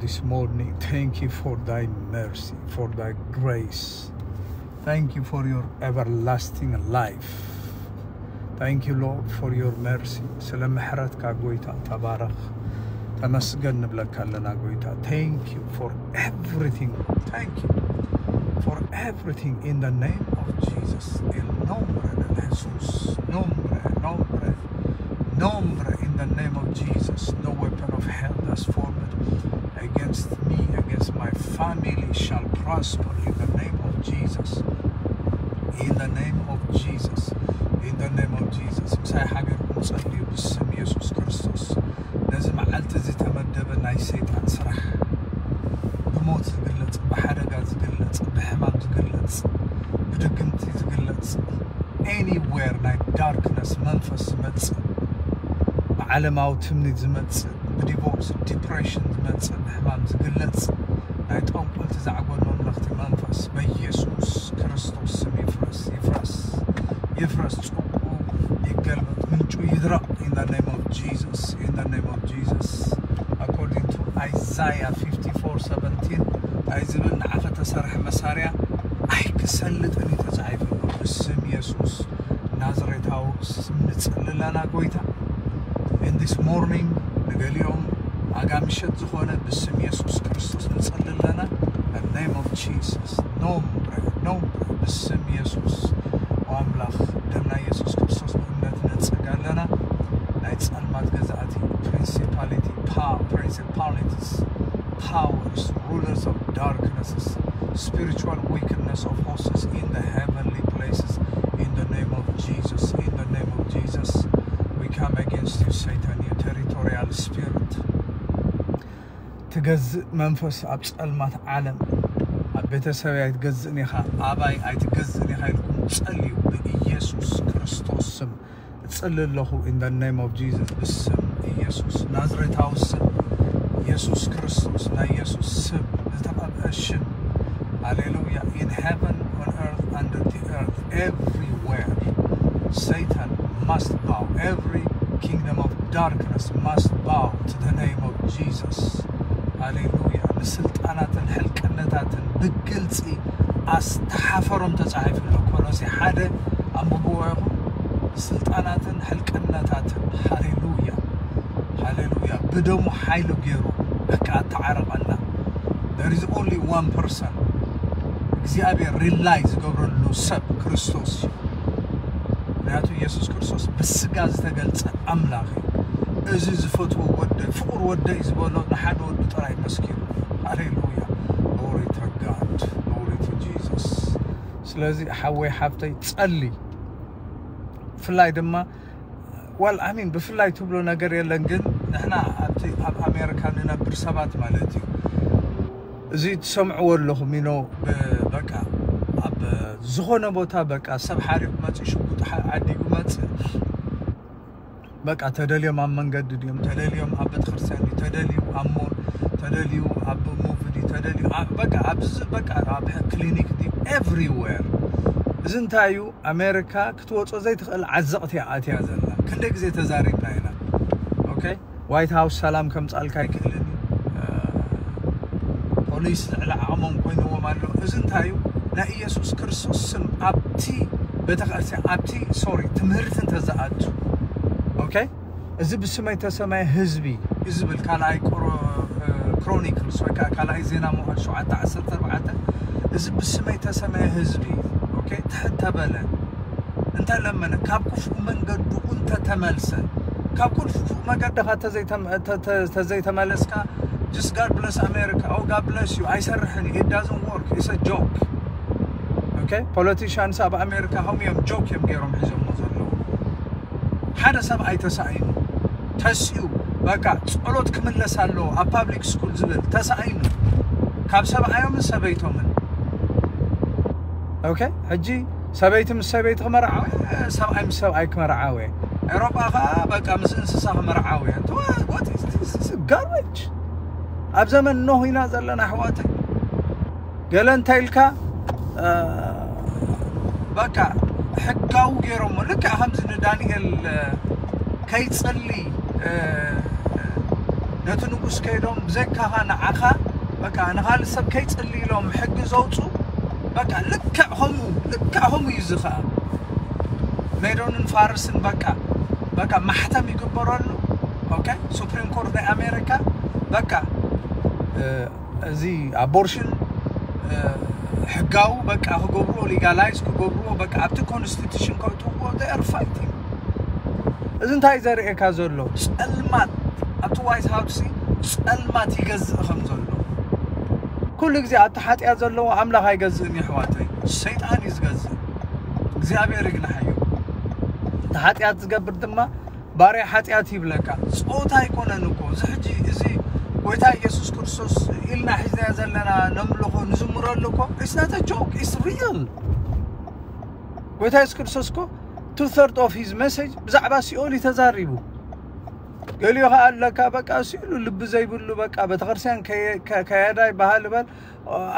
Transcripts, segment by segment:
this morning. Thank you for thy mercy, for thy grace. Thank you for your everlasting life. Thank you, Lord, for your mercy. ስለ ምሕረትካ ጎይታ ተባረኽ። ተመስገን ንብለካ ኣለና ጎይታ። Thank you for everything. Thank you for everything in the name of Jesus. El nombre de Jesús. Nombre, nombre, nombre in the name of Jesus. No weapon of hell that's formed against me, against my family shall prosper in the name of Jesus. In the name of Jesus. In the name of Jesus. ምሳይ ሓቢርኩም ጸልዩ ብስም ኢየሱስ ክርስቶስ። ነዚ መዓልቲ እዚ ተመደበ ናይ ሰይጣን ስራሕ፣ ብሞት ዝግለጽ፣ ብሓደጋ ዝግለጽ፣ ብሕማም ዝግለጽ፣ ብድግምቲ ዝግለጽ፣ anywhere ናይ darkness መንፈስ ዝመጽእ፣ ብዓለማዊ ትምኒት ዝመጽእ፣ ብዲቮርስ ዲፕሬሽን ዝመጽእ፣ ብሕማም ዝግለጽ፣ ናይ ጠንቆልቲ ዛዕጎል መምለኽቲ መንፈስ በኢየሱስ ክርስቶስ ስም ይፍረስ፣ ይፍረስ፣ ይፍረስ። ጽቡቁ ይገልበጥ፣ ምንጩ ይድረቕ። In the name of Jesus, in the name of Jesus. According to Isaiah fifty-four seventeen እንታይ ዝብል? ንዓኸ ተሰርሐ መሳርያ ኣይክሰልጥን እዩ ተጻሒፉ ኣሎ። ብስም ኢየሱስ ናዝሬታዊ ስም ንጽሊ ኣለና ጎይታ። In this morning ንገሊኦም ኣጋ ምሸት ዝኾነ ብስም ኢየሱስ ክርስቶስ ንጽሊ ኣለና። The name of Jesus. ኖምብረ፣ ኖምብረ፣ ብስም ኢየሱስ። ኦ ኣምላኽ፣ ደም ናይ ኢየሱስ ክርስቶስ ብእምነት ነጽግ ኣለና። ናይ ጸልማት ገዛእቲ፣ principality, power, principalities, powers, rulers of darknesses, spiritual wickedness of hosts in the heavenly places, in the name of Jesus, in the name of Jesus, we come against you, Satan, you territorial spirit. ትገዝእ መንፈስ ኣብ ጸልማት ዓለም፣ ኣብ ቤተሰበይ ኣይትገዝእን ኢኻ፣ ኣባይ ኣይትገዝእን ኢኻ ኢልኩም ጸልዩ። ብኢየሱስ ክርስቶስ ስም እጽሊ ኣለኹ። In the name of Jesus፣ ብስም ኢየሱስ ናዝሬታዊ ስም፣ ኢየሱስ ክርስቶስ፣ ናይ ኢየሱስ ስም፣ ዝተቐብአ ሽም። ሃሌሉያ። In heaven, on earth, under the earth, everywhere, Satan must bow. Every kingdom of darkness must bow to the name of Jesus. ሃሌሉያ። ንስልጣናትን ሕልቅነታትን ብግልጺ ኣስተሓፈሮም ተጻሒፉ ኣሎ። ኮሎሴ ሓደ ኣንብብዎ ኢኹም። ንስልጣናትን ሕልቅነታትን፣ ሃሌሉያ፣ ሃሌሉያ፣ ብደሙ ሓይሉ ገይሩ በቃ ኣተዓረቐና። There is only one person እግዚኣብሔር rely ዝገብረሉ ሰብ ክርስቶስ እዩ። ምክንያቱ ኢየሱስ ክርስቶስ ብስጋ ዝተገልጸ ኣምላኽ እዩ። እዚ ዝፈትዎ ወደይ፣ ፍቑር ወደይ ዝበሎ ንሓደ ወዱ ጥራይ መስኪሩ። ሃሌሉያ። Glory to God. Glory to Jesus. ስለዚ ሓወይ ሓፍተይ ጸሊ። ብፍላይ ድማ ዋል ኣሚን ብፍላይ ትብሎ ነገር የለን፣ ግን ንሕና ኣብቲ ኣብ ኣሜሪካ ንነብር ሰባት ማለት እዩ። እዚ ትሰምዕዎ ኣለኹም ኢኖ በቃ ኣብ ዝኾነ ቦታ በቃ ሰብ ሓሪቑ መጽእ ሽጉጥ ዓዲጉ መጽእ በቃ ተደልዮም ኣብ መንገዲ ድዮም ተደልዮም ኣብ ቤተክርስትያን ድዩ ተደልዩ ኣብ ሞል ተደልዩ ኣብ ሙቪ ድዩ ተደልዩ በቃ ኣብዚ በቃ ኣብ ክሊኒክ ድዩ everywhere። እዚ እንታይ እዩ? ኣሜሪካ ክትወጾ ዘይትኽእል ዓዘቕቲ እያ ኣትያ ዘላ። ክንደይ ግዜ ተዛሪብና ኢና። ኦኬ፣ ዋይት ሃውስ ሰላም ከምጻልካ ኣይክእልን እዩ። ፖሊስ ልዕሊ ዓቕሞም ኮይንዎም ኣሎ። እዚ እንታይ እዩ? ናይ ኢየሱስ ክርስቶስ ስም ኣብቲ ቤተክርስትያን ኣብቲ ሶሪ ትምህርቲ እንተዝኣቱ ኦኬ፣ እዚ ብስመይ ተሰማየ ህዝቢ ዝብል ካልኣይ ክሮኒክልስ ወይ ከዓ ካልኣይ ዜና መዋዕል ሸውዓተ ዓሰርተ ኣርባዕተ፣ እዚ ብስመይ ተሰማየ ህዝቢ ኦኬ፣ ትሕት ተበለ እንተለመነ ካብ ክፉእ መንገዱ እንተተመልሰ ካብ ክፉእ መገድኻ ተዘይተመለስካ just God bless America, oh God bless you ኣይሰርሕን እዩ, it doesn't work, it's a joke. Okay, politicians ኣብ ኣሜሪካ ከምኡ እዮም ጆክ እዮም ገይሮም ሒዞሞ ዘለዉ። ሓደ ሰብኣይ ተሳኢኑ ተሲኡ በቃ ጸሎት ክምለስ ኣለዎ ኣብ ፓብሊክ ስኩል ዝብል ተሳኢኑ ካብ ሰብኣዮምን ሰበይቶምን። ኦኬ፣ ሕጂ ሰበይቲ ምስ ሰበይቲ ክመርዓወ፣ ሰብኣይ ምስ ሰብኣይ ክመርዓወ። ኤሮጳ ኸዓ በቃ ምስ እንስሳ ክመርዓወ። ጋርቤጅ ኣብ ዘመን ኖህ ኢና ዘለና ኣሕዋተይ። ገለ እንታይ ኢልካ በቃ ሕጋዊ ገይሮሞ ልክዕ ከምዚ ንዳንኤል ከይጸሊ ነቲ ንጉስ ከይዶም ብዘይካኻ ንዓኻ በቃ ንኻልእ ሰብ ከይጽሊ ኢሎም ሕጊ ዘውፁ በቃ ልክዕ ከምኡ ልክዕ ከምኡ እዩ እዚ ኸዓ ሜዶንን ፋርስን በቃ በቃ ማሕተም ይግበረሉ። ኦኬ ሱፕሪም ኮርት ናይ ኣሜሪካ በቃ እዚ ኣቦርሽን ሕጋዊ በቃ ክገብርዎ ሊጋላይዝ ክገብርዎ በቃ ኣብቲ ኮንስቲቱሽን ከእትውዎ ር ፋይቲንግ። እዚ እንታይ ዘርእየካ ዘሎ ጸልማት ኣብቲ ዋይት ሃውስ ጸልማት ይገዝእ ከም ዘሎ ኩሉ ግዜ ኣብቲ ሓጢኣት ዘለዎ ኣምላኽ ኣይገዝእን እዩ ኣሕዋተይ። ሰይጣን እዩ ዝገዝእ። እግዚኣብሔር ይግናሓዮ። እቲ ሓጢኣት ዝገብር ድማ ባርያ ሓጢኣት ይብለካ። ጾታ ኣይኮነን እኮ እዚ ሕጂ እዚ ጎይታ ኢየሱስ ክርስቶስ ኢልና ሒዝናዮ ዘለና ነምልኾ ንዝምረሉ እኮ it's not a joke, it's real። ጎይታ የሱስ ክርስቶስ እኮ two third of his message ብዛዕባ ሲኦል እዩ ተዛሪቡ። ገሊኡ ኸዓ ኣለካ በቃ ሲሉ ልቢ ዘይብሉ በቃ ቤተክርስትያን ከየ- ከ- ከየዳ ይበሃል በል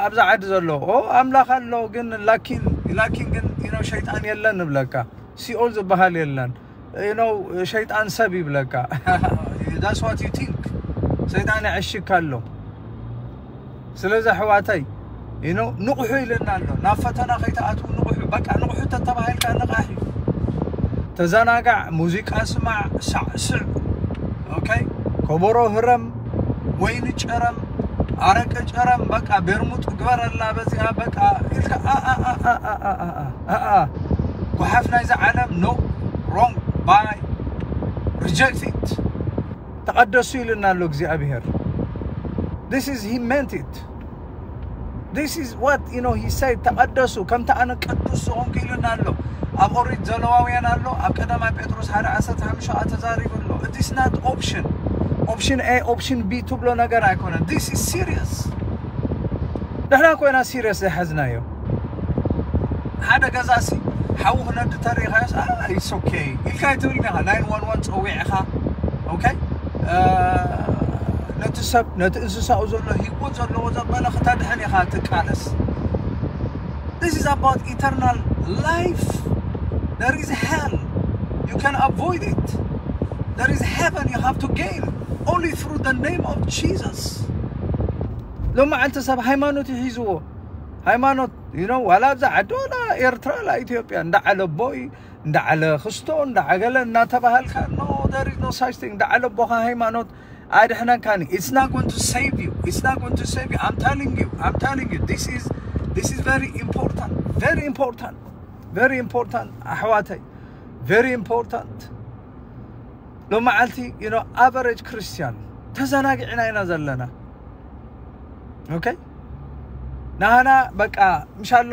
ኣብዛ ዓዲ ዘሎ ኦ ኣምላኽ ኣሎ ግን ላኪን ላኪን ግን you know ሸይጣን የለን ንብለካ። ሲኦል ዝበሃል የለን። You know ሸይጣን ሰብ ይብለካ። That's what you think። ሰይጣን ይዕሽካ ኣሎ። ስለዚ ኣሕዋተይ you know ንቑሑ ኢለና ኣሎ። ናብ ፈተና ከይትኣትዉ ንቑሑ። በቃ ንቑሑ ተተባሂልካ ንቓሕ እዩ። ተዘናጋዕ፣ ሙዚቃ ስማዕ፣ ሳዕስዕ። ኦኬ ከበሮ ህረም፣ ወይኒ ጨረም፣ ኣረቂ ጨረም፣ በቃ ቤርሙጥ ግበረላ በዚኣ በቃ ኢልካ ኣኣ ጎሓፍ ናይዚ ዓለም no, wrong, bye, reject it። ተቐደሱ ኢልና ኣሎ እግዚኣብሔር። This is he meant it. This is what you know he said. ተቐደሱ ከምቲ ኣነ ቅዱስ ዝኾንኩ ኢልና ኣሎ። ኣብ ኦሪት ዘለዋውያን ኣሎ፣ ኣብ ቀዳማይ ጴጥሮስ ሓደ ዓሰርተ ሓሙሽተ ከዓ ተዛሪቡ ኣሎ። It is not option, option A, option B ትብሎ ነገር ኣይኮነን። This is serious። ንሕና ኮይና ሲሪየስ ዘይሓዝናዮ ሓደ ገዛሲ ሓዊ ክነዲ ተሪኻዮስ it's okay ኢልካ ኣይትብልን ኢኻ። ናይን ዋን ዋን ፀዊዕኻ okay ነቲ ሰብ ነቲ እንስሳኡ ዘሎ ህይወት ዘለዎ ዘበለ ክተድሕን ኢኻ ትቃለስ። This is about eternal life. There is hell. You can avoid it. There is heaven you have to gain only through the name of Jesus. ሎም መዓልቲ ሰብ ሃይማኖት ይሒዝዎ። ሃይማኖት you know ዋላ ኣብዛ ዓዲ ዋላ ኤርትራ ዋላ ኢትዮጵያ እንዳ ዓለ ኣቦይ እንዳ ዓለ ክስቶ እንዳ ዓገለ እናተባሃልካ no, there is no such thing። እንዳ ዓለ ኣቦኻ ሃይማኖት ኣድሕነካኒ። It's not going to save you. It's not going to save you. I'm telling you. I'm telling you. This is this is very important. Very important. Very important. ኣሕዋተይ very important። ሎም መዓልቲ you know average ክርስቲያን ተዘናጊዕና ኢና ዘለና። ኦኬ ናህና በቃ ምሻሎ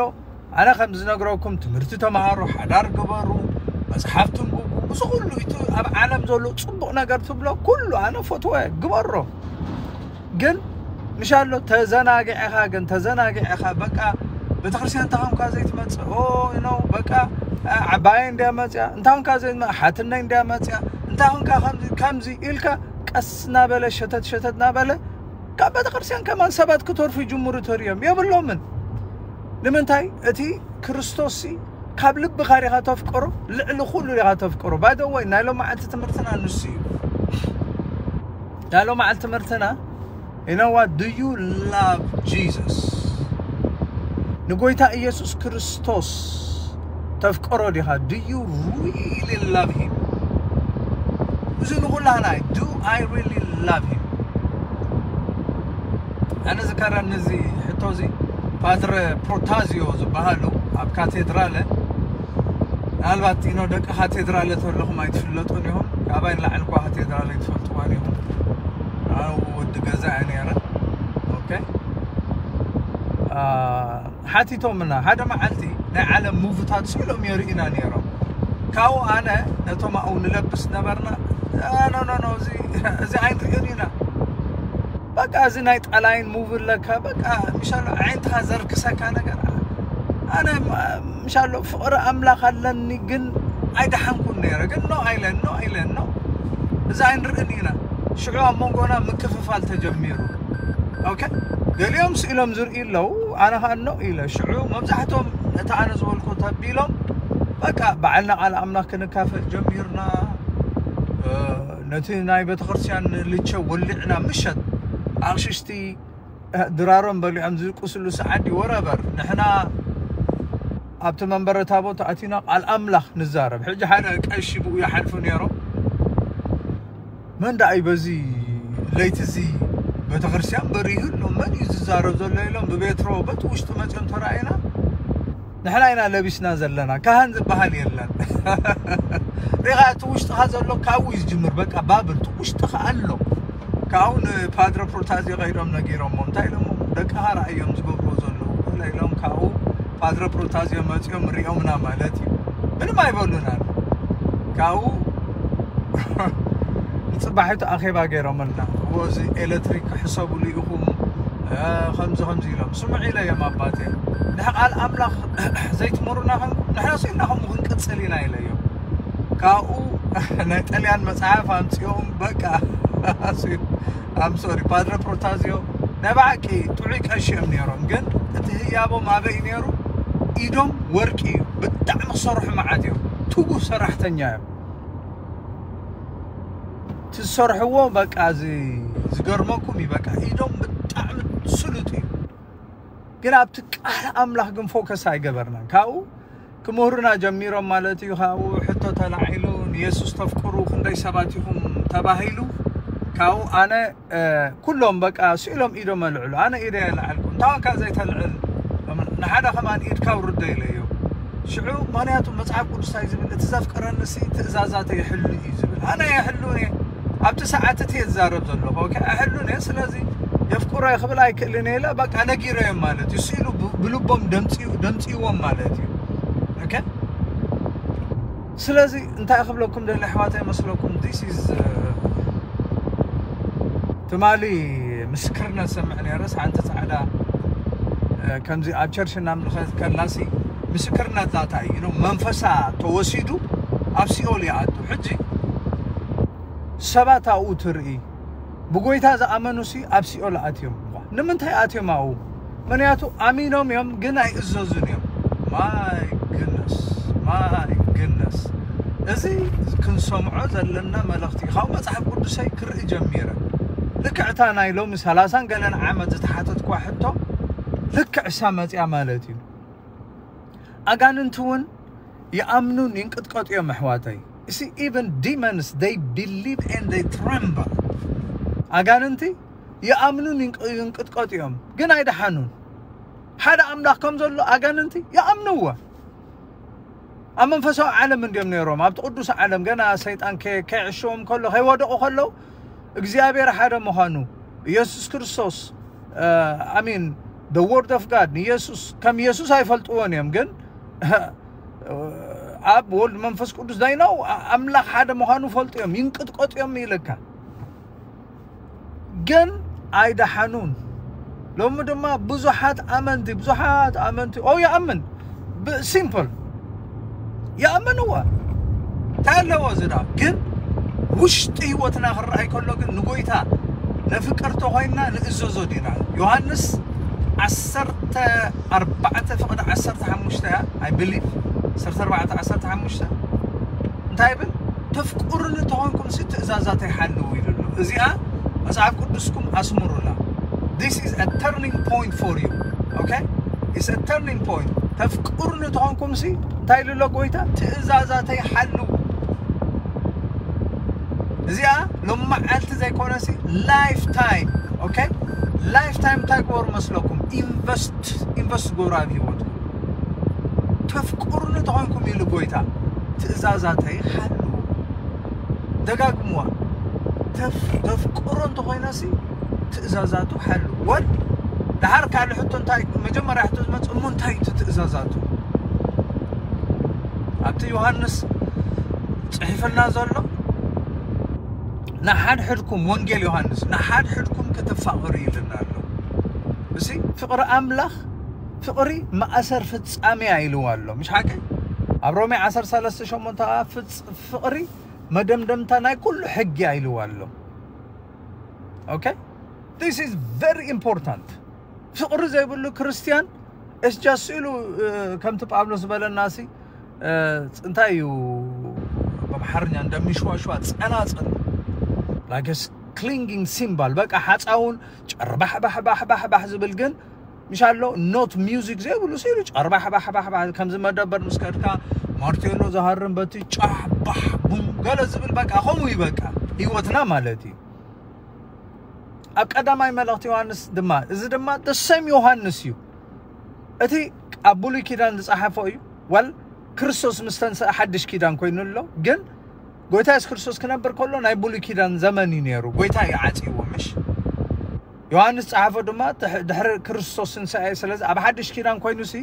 ኣነ ከም ዝነግረኩም ትምህርቲ ተምሃሩ፣ ሓዳር ግበሩ፣ መፅሓፍ ትንብቡ፣ እዚ ኩሉ እቲ ኣብ ዓለም ዘሎ ፅቡቕ ነገር ትብሎ ኩሉ ኣነ ፈትወ ግበሮ። ግን ምሻሎ ተዘናጊዕኻ ግን ተዘናጊዕኻ በቃ ቤተክርስትያን እንታኾንካ ዘይትመፅእ ኦ ነው በቃ ዓባየ እንዲያ መፅያ እንታኾንካ ዘይትመ ሓትነይ እንዲያ መፅያ እንታኾንካ ከምዚ ኢልካ ቀስ እናበለ ሸተት ሸተት እናበለ ካብ ቤተክርስትያን ከማን ሰባት ክተርፉ ይጅምሩ ተሪኦም የብሎምን። ንምንታይ እቲ ክርስቶስ ካብ ልብኻ ዲኻ ተፍቅሮ ልዕሊ ኩሉ ዲኻ ተፍቅሮ። ባይደወይ ናይ ሎም መዓልቲ ትምህርትና ንሱ እዩ። ናይ ሎም መዓልቲ ትምህርትና you know what do you love Jesus? ንጎይታ ኢየሱስ ክርስቶስ ተፍቅሮ ዲኻ? Do you really love him? እዚ ንኹላህና do I really love him? ኣነ ዝከረኒ እዚ ሕቶ እዚ ፓትረ ፕሮታዚዮ ዝበሃሉ ኣብ ካቴድራለ ምናልባት you know ደቂ ካቴድራለ ተለኹም ኣይትፍለጡን ኢኹም። ካባይ ንላዕሊ እኳ ካቴድራለ ኣይትፈልጥዋን ኢኹም። ኣነ ወዲ ገዛ እየ ነይረ። ኦኬ ሓቲቶምና ሓደ መዓልቲ ናይ ዓለም ሙቭታት ስኢሎም የርእና ነይሮም። ካብኡ ኣነ ነቶም ኣብኡ ንለብስ ነበርና no no no እዚ ኣይንርእን ኢና። በቃ እዚ ናይ ጠላይን ሙቭ ኣለካ በቃ ምሻሎ ዓይንትኻ ዘርክሰካ ነገር ኣነ ምሻሎ ፍቕሪ ኣምላኽ ኣለኒ ግን ኣይደሓንኩን ነይረ ግን no ኣይለን no ኣይለን no እዚ ኣይንርእን ኢና። ሽዑ ኣብ መንጎና ምክፍፋል ተጀሚሩ። ኦኬ ገሊኦም ስኢሎም ዝርእዩ ኣለዉ። ኣነ ከዓ no ኢለ ሽዑ መብዛሕቶም ነቲ ኣነ ዝበልኩ ተቢሎም በቃ በዓልና ቃል ኣምላኽ ክንካፈል ጀሚርና። እቲ ናይ ቤተክርስትያን ልቸ ወሊዕና ምሸት ኣቕሽሽቲ ድራሮም በሊዖም ዝልቅስሉ ሰዓት ድዩ ወረበር ንሕና ኣብቲ መንበረ ታቦት ኣቲና ቃል ኣምላኽ ንዛረብ። ሕጂ ሓደ ቀሺ ብኡ ይሓልፉ ነይሮም። መን ደኣ እዩ በዚ ለይቲ እዚ ቤተክርስትያን በሪሁ ኣሎ? መን እዩ ዝዛረብ ዘሎ? ኢሎም ብቤትሮ በቲ ውሽጢ መፅኦም ተራእዩና። ንሕና ኢና ለቢስና ዘለና፣ ካህን ዝበሃል የለን። ሪኻ እቲ ውሽጥኻ ዘሎ ካብኡ እዩ ዝጅምር። በቃ ባብል እቲ ውሽጥኻ ኣሎ። ካብኡ ንፓድረ ፕሮታዝዮ ከይዶም ነጊሮሞ እንታይ ኢሎሞ? ደቅኻ ረኣዮም ዝገብርዎ ዘለዉ ገለ ኢሎም ካብኡ ፓድረ ፕሮታዝዮ መፂኦም ሪኦምና ማለት እዩ። ምንም ኣይበሉናን። ካብኡ ንፅባሒቱ ኣኼባ ገይሮምልና። እዎ እዚ ኤሌክትሪክ ክሕሰብሉ ኢኹም ከምዚ ከምዚ ኢሎም ስምዑ ኢለዮም ኣባቴ። ንሕ ቃል ኣምላኽ ዘይትምህሩና ከምኩም ንሕና ስኢልና ከምኡ ክንቅፅል ኢና ኢለዮም። ካብኡ ናይ ጠልያን መፅሓፍ ኣምፅኦም በቃ ኣምሶሪ ፓድረ ፕሮታዝዮ ናይ ብሓቂ ጥዑይ ቀሺ እዮም ነይሮም። ግን እቲ ህያቦም ኣበይ ነይሩ? ኢዶም ወርቂ እዩ። ብጣዕሚ ክሰርሑ መዓት እዮም። ትጉህ ሰራሕተኛ እዮም። ትሰርሕዎ በቃ እዚ ዝገርመኩም እዩ። በቃ ኢዶም ብጣዕሚ ስሉጥ እዩ። ግን ኣብቲ ቃል ኣምላኽ ግን ፎከስ ኣይገበርናን። ካብኡ ክምህሩና ጀሚሮም ማለት እዩ። ካብኡ ሕቶ ተላዒሉ ንየሱስ ተፍቅሩ ክንደይ ሰባት ኢኹም ተባሂሉ። ካብኡ ኣነ ኩሎም በቃ ስኢሎም ኢዶም ኣልዕሉ። ኣነ ኢደ የልዓልኩ እንታወካ ዘይተልዕል ንሓደ ከማን ኢድካ ውርዶ ኢለዮ። ሽዑ ምክንያቱ መፅሓፍ ቅዱስ እንታይ ዝብል እቲ ዘፍቅረኒ ሲ ትእዛዛተ ይሕሉ እዩ ዝብል። ኣነ የሕሉን እየ ኣብቲ ሰዓት እቲ እየ ዝዛረብ ዘለኹ። ኦኬ ኣይሕሉን እየ። ስለዚ የፍቅሮ ክብል ኣይክእልን እየ ኢለ በቃ ነጊረዮም ማለት እዩ። ስኢሉ ብልቦም ደምፅዎም ማለት እዩ። ኦኬ ስለዚ እንታይ ክብለኩም ደሊ ኣሕዋት ኣይመስለኩም? This is ትማሊ ምስክርነት ሰምዕ ነይረስ ሓንቲ ፃዕዳ ከምዚ ኣብ ቸርች እናምልኸት ከላሲ ምስክርነት ላታ እዩ መንፈሳ ተወሲዱ ኣብ ሲኦል ይኣቱ። ሕጂ ሰባት ኣብኡ ትርኢ ብጎይታ ዝኣመኑ ሲ ኣብ ሲኦል ኣትዮም። ንምንታይ ኣትዮም ኣብኡ? ምክንያቱ ኣሚኖም እዮም ግን ኣይእዘዙን እዮም። My goodness my goodness። እዚ ክንሰምዖ ዘለና መልእኽቲ ካብ መፅሓፍ ቅዱሰይ ክርኢ ጀሚረ። ልክዕታ ናይ ሎሚ ሰላሳን ገለን ዓመት ዝተሓተትኳ ሕቶ ልክዕ እሳ መፅያ ማለት እዩ። ኣጋንንቲ እውን ይኣምኑን ይንቅጥቀጡ እዮም ኣሕዋተይ። እሲ even demons they believe and they tremble። ኣጋንንቲ ይኣምኑን ይንቅጥቀጡ እዮም ግን ኣይደሓኑን። ሓደ ኣምላኽ ከም ዘሎ ኣጋንንቲ ይኣምንዎ። ኣብ መንፈሳዊ ዓለም እንዲዮም ነይሮም ኣብቲ ቅዱስ ዓለም ገና ሰይጣን ከይዕሽዎም ከሎ ከይወደቑ ከለዉ እግዚኣብሔር ሓደ ምዃኑ ኢየሱስ ክርስቶስ ኣሚን the word of God ንኢየሱስ ከም ኢየሱስ ኣይፈልጥዎን እዮም ግን ኣብ ወልድ መንፈስ ቅዱስ ዳይናው ኣምላኽ ሓደ ምዃኑ ፈልጡ እዮም ይንቅጥቀጡ እዮም ኢለካ። ግን ኣይደሓኑን። ሎሚ ድማ ብዙሓት ኣመንቲ ብዙሓት ኣመንቲ ኦ ይኣምን simple ይኣምንዎ እንታይ ኣለዎ ዝዳ ግን ውሽጢ ህይወትና ክረኣይ ከሎ ግን ንጎይታ ነፍቅር ተኾይንና ንእዘዞ ዲና። ዮሃንስ ዓሰርተ ኣርባዕተ ፍቕዲ ዓሰርተ ሓሙሽተ እያ I believe ዓሰርተ ኣርባዕተ ዓሰርተ ሓሙሽተ እንታይ ይብል? ተፍቅሩኒ ተኾንኩም ሲ ትእዛዛተይ ሓልዉ ኢሉ ኣሎ። እዚኣ መጽሓፍ ቅዱስኩም ኣስምሩላ። This is a turning point for you. Okay? It's a turning point. ተፍቅሩኒ ተኾንኩም ሲ እንታይ ኢሉ ኣሎ ጎይታ? ትእዛዛተይ ሓልዉ። እዚኣ ሎም መዓልቲ ዘይኮነሲ life time okay life time እንታይ ግበሩ መስለኩም ኢንቨስት ኢንቨስት ግበሩ ኣብ ህይወትኩም ተፍቅሩኒ ተኾንኩም ኢሉ ጎይታ ትእዛዛተይ ሓልዉ ደጋግምዋ ተፍቅሮ እንተኾይናሲ ትእዛዛቱ ሓልዉ ወል ደሓር ካልእ ሕቶ እንታይ መጀመርያ ሕቶ ዝመፅእ እሞ እንታይ እቲ ትእዛዛቱ ኣብቲ ዮሃንስ ፅሒፍልና ዘሎ ንሓድሕድኩም ወንጌል ዮሃንስ ንሓድሕድኩም ክትፋቐሩ ይልና ኣሎ። እዚ ፍቕሪ ኣምላኽ ፍቕሪ ማእሰር ፍጻሜያ ኢልዋ ኣሎ። ምሽ ሓቂ ኣብ ሮሜ ዓሰርተ ሰለስተ ሸሞንተ ፍቕሪ መደምደምታ ናይ ኩሉ ሕጊያ ኢልዋ ኣሎ። Okay? This is very important. ፍቕሪ ዘይብሉ ክርስትያን እስጃስ ኢሉ ከምቲ ጳውሎስ ዝበለና ሲ እንታይ እዩ ብኣምሓርኛ እንደሚሽዋሽዋ ጸናጽል like a clinging cymbal በቃ ሓፃውን ጨርባሕ ባሕ ባሕ ባሕ ባሕ ዝብል ግን ምሻሎ ኖት ሚውዚክ ዘይብሉ ሲሉ ጨርባሕ ባሕ ባሕ ባሕ ከምዚ መደበር ምስ ከድካ ማርቴሎ ዝሃርም በቲ ጫሕ ባሕ ቡም ገለ ዝብል በቃ ከምኡ እዩ በቃ ህይወትና ማለት እዩ። ኣብ ቀዳማይ መልእኽቲ ዮሃንስ ድማ እዚ ድማ ደሰም ዮሃንስ እዩ። እቲ ኣብ ብሉይ ኪዳን ዝፀሓፎ እዩ ወል ክርስቶስ ምስ ተንስአ ሓድሽ ኪዳን ኮይኑ ኣሎ። ግን ጎይታ የሱስ ክርስቶስ ክነብር ከሎ ናይ ብሉይ ኪዳን ዘመን እዩ ነይሩ። ጎይታ እዩ ዓፅይዎ ምሽ ዮሃንስ ፀሓፎ ድማ ድሕሪ ክርስቶስ ትንሳኤ። ስለዚ ኣብ ሓድሽ ኪዳን ኮይኑ ሲ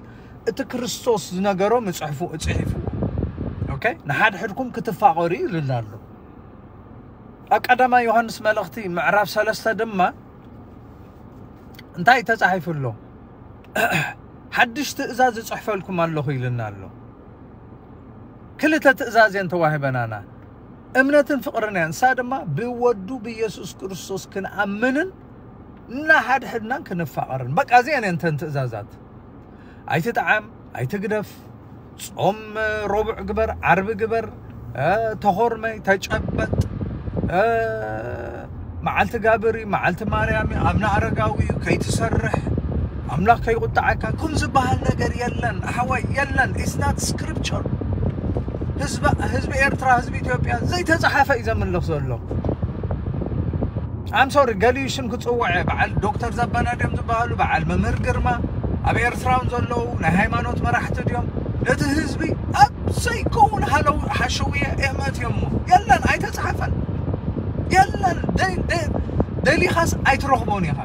እቲ ክርስቶስ ዝነገሮ ምፅሕፉ እፅሒፍዎ። ኦኬ ንሓድሕድኩም ክትፋቐሩ ይልና ኣሎ። ኣብ ቀዳማይ ዮሃንስ መልእኽቲ ምዕራፍ ሰለስተ ድማ እንታይ ተፃሒፉ ኣሎ? ሓድሽ ትእዛዝ እፅሕፈልኩም ኣለኹ ኢልና ኣሎ። ክልተ ትእዛዝ እየን ተዋሂበናና፣ እምነትን ፍቕርን እያ። ንሳ ድማ ብወዱ ብኢየሱስ ክርስቶስ ክንኣምንን እናሓድሕድናን ክንፋቐርን። በቃ እዚአን እየን እተን ትእዛዛት። ኣይትጥዓም፣ ኣይትግደፍ፣ ጾም ረቡዕ ግበር፣ ዓርቢ ግበር፣ ተኾርመይ፣ ተጨበጥ፣ መዓልቲ ጋብር እዩ፣ መዓልቲ ማርያም እዩ፣ ኣብነ ኣረጋዊ እዩ፣ ከይትሰርሕ፣ ኣምላኽ ከይቁጣዓካ፣ ኩም ዝበሃል ነገር የለን ኣሓዋይ፣ የለን። It's not scripture። ህዝቢ ኤርትራ፣ ህዝቢ ኢትዮጵያ ዘይተፃሓፈ እዩ ዘምልኽ ዘሎ። I'm sorry፣ ገሊኡ ሽም ክፅውዐ በዓል ዶክተር ዘበነ ድዮም ዝበሃሉ፣ በዓል መምህር ግርማ፣ ኣብ ኤርትራውን ዘለዉ ናይ ሃይማኖት መራሕቲ ድዮም ነቲ ህዝቢ ኣብ ዘይከውን ሃለው ሓሸውየ እመት እዮሞ። የለን፣ ኣይተፃሓፈን፣ የለን። ደሊኻስ ኣይትረኽቦን ኢኻ።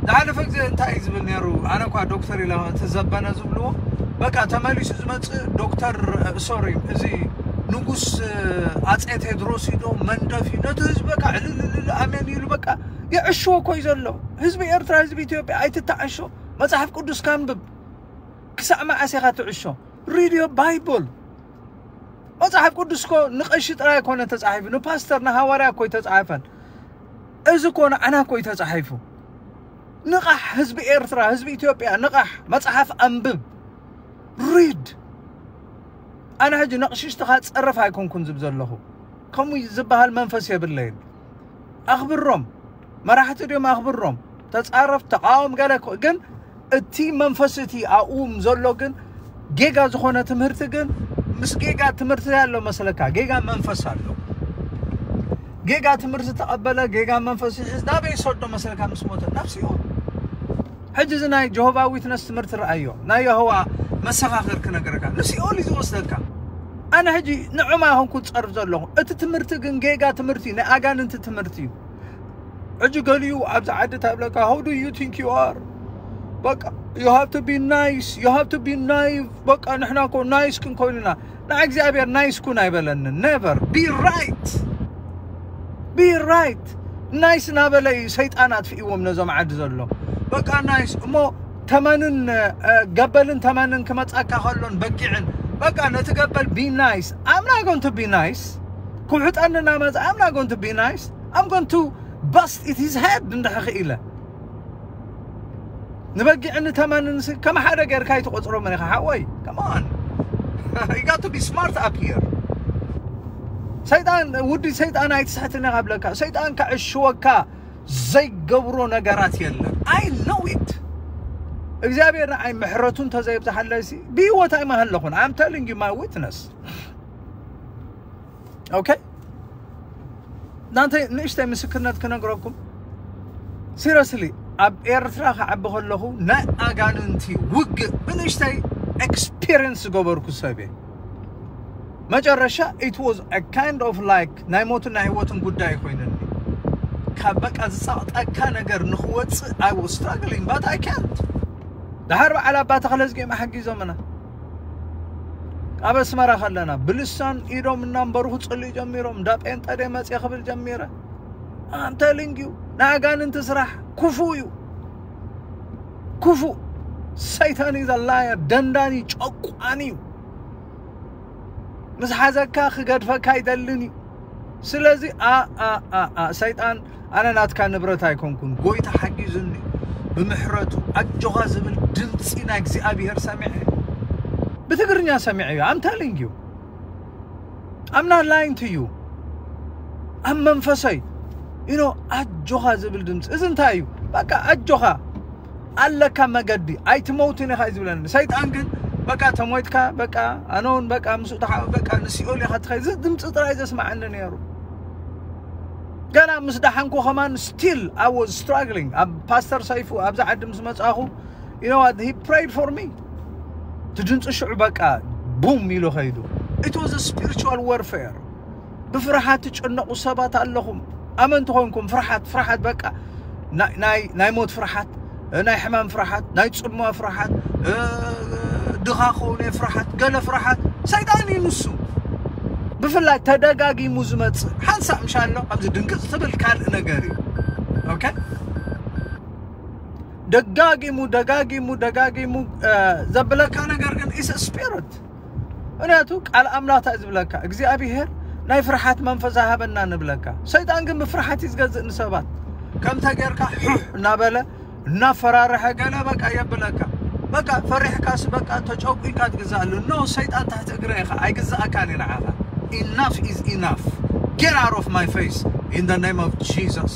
ዝሓለፈ ግዜ እንታይ እዩ ዝብል ነይሩ? ኣነ እኳ ዶክተር ኢለ እቲ ዘበነ ዝብልዎ በቃ ተመሊሱ ዝመፅእ ዶክተር፣ ሶሪ፣ እዚ ንጉስ ኣፀ ቴድሮስ ኢዶ መንደፍ እዩ ነቲ ህዝቢ በቃ ዕልልልል ኣሜን ኢሉ በቃ የዕሽዎ እኮ እዩ ዘሎ። ህዝቢ ኤርትራ፣ ህዝቢ ኢትዮጵያ ኣይትተዓሾ። መፅሓፍ ቅዱስ ካንብብ። ክሳዕ መዓስ ኢኻ ትዕሾ? ሪድዮ ባይቦል። መፅሓፍ ቅዱስ እኮ ንቐሺ ጥራይ ኣይኮነ ተፃሒፉ፣ ንፓስተር ንሃዋርያ እኮ ኣይተፃሓፈን። እዚ እኮ ንዓና እኮ እዩ ተፃሒፉ። ንቓሕ ህዝቢ ኤርትራ፣ ህዝቢ ኢትዮጵያ ንቓሕ። መፅሓፍ ኣንብብ፣ ሪድ። ኣነ ሕጂ ነቕሽሽትኻ ፀረፍ ኣይኮንኩን ዝብ ዘለኹ። ከምኡ ዝበሃል መንፈስ የብለይን። ኣኽብሮም፣ መራሕቲ ድዮም ኣኽብሮም። ተፃረፍ ተቃወም ገለ እኮ ግን እቲ መንፈስ እቲ ኣብኡም ዘሎ ግን ጌጋ ዝኾነ ትምህርቲ ግን ምስ ጌጋ ትምህርቲ ኣሎ መስለካ። ጌጋ መንፈስ ኣሎ። ጌጋ ትምህርቲ ተቐበለ፣ ጌጋ መንፈስ ይሕዝ ናበይ ይሰዶ መስለካ? ምስ ሞተ ናብ ሲኦል። ሕጂ እዚ ናይ ጀሆቫ ዊትነስ ትምህርቲ ረኣዮ፣ ናይ የሆዋ መሰኻኽር ክነገረካ ንሲኦል እዩ ዝወስደካ። ኣነ ሕጂ ንዕማ ይኹንኩ ዝፀርፍ ዘለኹ። እቲ ትምህርቲ ግን ጌጋ ትምህርቲ ናይ ኣጋንንቲ ትምህርቲ እዩ። ሕጂ ገሊኡ ኣብዚ ዓዲ ታብለካ how do you think you are? በቃ you have to be nice, you have to be naive። በቃ ንሕና እኮ ናይስ ክንኮይኑና። ንዓ እግዚኣብሔር ናይስ ኩን ኣይበለንን። Never። Be right፣ be right። ናይስ ናበለ እዩ ሰይጣን ኣጥፊእዎም ነዞም ዓዲ ዘሎ። በቃ ናይስ እሞ ተመንን ገበልን ተመንን ክመጻካ ከሎን በጊዕን በቃ ነቲ ገበል be nice። I'm not going to be nice። ክውሕጠኒ እናመጻ I'm not going to be nice። I'm going to bust it his head እንድሕር ክኢለ። ንበጊዕን ንተመንን ከም ሓደ ጌርካ ኣይትቆጽሮምን ኢኻ ሓወይ። Come on። You got to be smart up here። ሰይጣን ውዲ ሰይጣን ኣይትስሕትን ኢኻ ብለካ። ሰይጣን ከዕሽወካ ዘይገብሮ ነገራት የለን። I know it። እግዚኣብሔር ንዓይ ምሕረቱ እንተዘይብዝሓለይሲ ብህይወት ኣይመሃለኹን። I'm telling you my witness። ኦኬ፣ እናንተ ንእሽተይ ምስክርነት ክነግረኩም። ሲሪየስሊ ኣብ ኤርትራ ክዓቢ ከለኹ ናይ ኣጋንንቲ ውግእ ብንእሽተይ ኤክስፒሪየንስ ዝገበርኩ ሰብ እየ። መጨረሻ it was a kind of like ናይ ሞትን ናይ ህይወትን ጉዳይ ኮይኑኒ። ካብ በቃ ዝፀቕጠካ ነገር ንክወፅእ I was struggling but I can't። ድሓር በዓል ኣባ ተኽለዝጊኦም ሓጊዞምና። ኣብ ኣስመራ ከለና ብልሳን ኢዶም እናንበሩ ክፅልዩ ጀሚሮም። እንዳ ጴንጠ ደይ መፅየ ክብል ጀሚረ። I'm telling you፣ ናይ ኣጋንንቲ ስራሕ ክፉእ እዩ። ክፉእ። ሰይጣን is a liar። ደንዳኒ ጨቋኒ እዩ። ምስ ሓዘካ ክገድፈካ ኣይደልን እዩ። ስለዚ ሰይጣን ኣነ ናትካ ንብረት ኣይኮንኩን። ጎይታ ሓጊዙኒ ብምሕረቱ ኣጆኻ ዝብል ድምፂ ናይ እግዚኣብሔር ሰሚዐ። ብትግርኛ ሰሚዐ እዩ። I'm telling you። I'm not lying to you። ኣብ መንፈሰይ ኢኖ ኣጆኻ ዝብል ድምፂ። እዚ እንታይ እዩ? በቃ ኣጆኻ ኣለካ መገዲ ኣይትመውትን ኢኻ እዩ ዝብለኒ። ሰይጣን ግን በቃ ተሞይትካ በቃ ኣነውን በቃ ምስ ተሓ በቃ ንሲኦል ኢኻ ትኸይ እዚ ድምፂ ጥራይ ዘስማዓኒ ነይሩ። ገና ምስ ደሓንኩ ከማን still I was struggling። ኣብ ፓስተር ሰይፉ ኣብዚ ዓዲ ምስ መጻኹ you know what he prayed for me። እቲ ድምፂ ሽዑ በቃ ቡም ኢሉ ኸይዱ። It was a spiritual warfare። ብፍርሓት ትጨነቑ ሰባት ኣለኹም። ኣመንቲ ኾንኩም ፍርሓት ፍርሓት በቃ ናይ ናይ ሞት ፍርሓት፣ ናይ ሕማም ፍርሓት፣ ናይ ጽምዋ ፍርሓት፣ ድኻ ኾውነ ፍርሓት፣ ገለ ፍርሓት ሰይጣን እዩ ንሱ። ብፍላይ ተደጋጊሙ ዝመጽእ ሓንሳእ ምሻሎ ኣብዚ ድንግጽ ትብል ካልእ ነገር እዩ። ኦኬ ደጋጊሙ ደጋጊሙ ደጋጊሙ ዘብለካ ነገር ግን is spirit። ምክንያቱ ቃል ኣምላኽ እንታይ ዝብለካ እግዚኣብሔር ናይ ፍርሓት መንፈስ ኣይሃበና ንብለካ። ሰይጣን ግን ብፍርሓት እዩ ዝገዝእ ንሰባት። ከምተ ጌርካ ሑሕ እናበለ እናፈራርሐ ገለ በቃ የብለካ። በቃ ፈሪሕካስ በቃ ተጨቁንካ ትግዛኣሉ። No ሰይጣን ትሕቲ እግረ ኢኻ ኣይግዛኣካን እዩ ንዓኻ። Enough is enough. Get out of my face in the name of Jesus.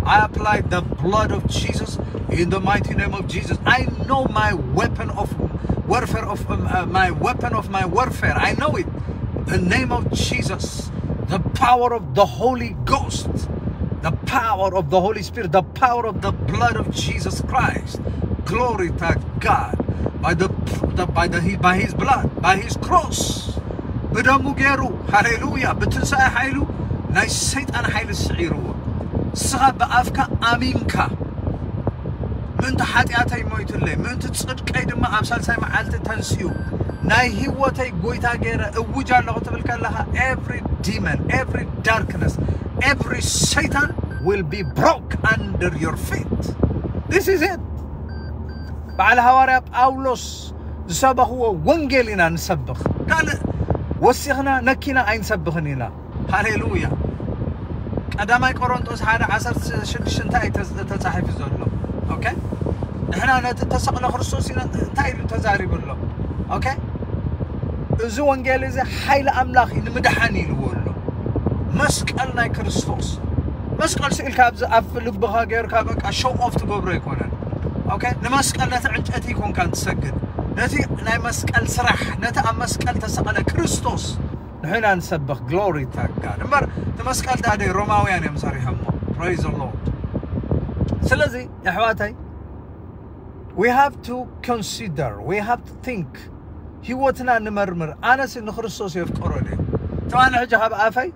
I apply the blood of Jesus in the mighty name of Jesus. I know my weapon of warfare of um, uh, my weapon of my warfare. I know it. The name of Jesus, the power of the Holy Ghost, the power of the Holy Spirit, the power of the blood of Jesus Christ. Glory to God. By the, the by the by his blood, by his cross. ብደሙ ገይሩ ሃሌሉያ ብትንሳኤ ሓይሉ ናይ ሰይጣን ሓይሊ ስዒርዎ። ንስኻ ብኣፍካ ኣሚንካ ምእንቲ ሓጢኣተይ ሞይቱለይ ምእንቲ ጽድቀይ ድማ ኣብ ሳልሳይ መዓልቲ ተንስኡ ናይ ህይወተይ ጎይታ ገይረ እውጅ ኣለኹ ትብል ከለኻ every demon, every darkness, every Satan will be broke under your feet. This is it. በዓል ሃዋርያ ጳውሎስ ዝሰበኽዎ ወንጌል ኢና ንሰብኽ። ካልእ ወሲኽና ነኪና ኣይንሰብኽን ኢና። ሃሌሉያ። ቀዳማይ ቆሮንጦስ ሓደ ዓሰርተ ሽዱሽተ እንታይ እዩ ተጻሒፉ ዘሎ? ኦኬ ንሕና ነቲ ተሰቕለ ክርስቶስ ኢና እንታይ ኢሉ ተዛሪቡ ኣሎ? ኦኬ እዚ ወንጌል እዚ ሓይሊ ኣምላኽ እዩ ንምድሓን ኢልዎ ኣሎ። መስቀል ናይ ክርስቶስ መስቀል ስኢልካ ኣብዚ ኣብ ልብኻ ጌርካ በቃ ሾው ኦፍ ትገብሮ ኣይኮነን። ኦኬ ንመስቀል ነቲ ዕንጨቲ ይኮንካ ትሰግድ ነቲ ናይ መስቀል ስራሕ ነቲ ኣብ መስቀል ተሰቐለ ክርስቶስ ንሕና ንሰብኽ ግሎሪ ታጋድ እምበር እቲ መስቀል ታደ ሮማውያን እዮም ሰሪሖሞ። Praise the Lord። ስለዚ ኣሕዋተይ we have to consider, we have to think። ህይወትና ንመርምር። ኣነስ ንክርስቶስ የፍቀሮ ድየ? ትማሊ ሕጂ ካብ ኣፈይ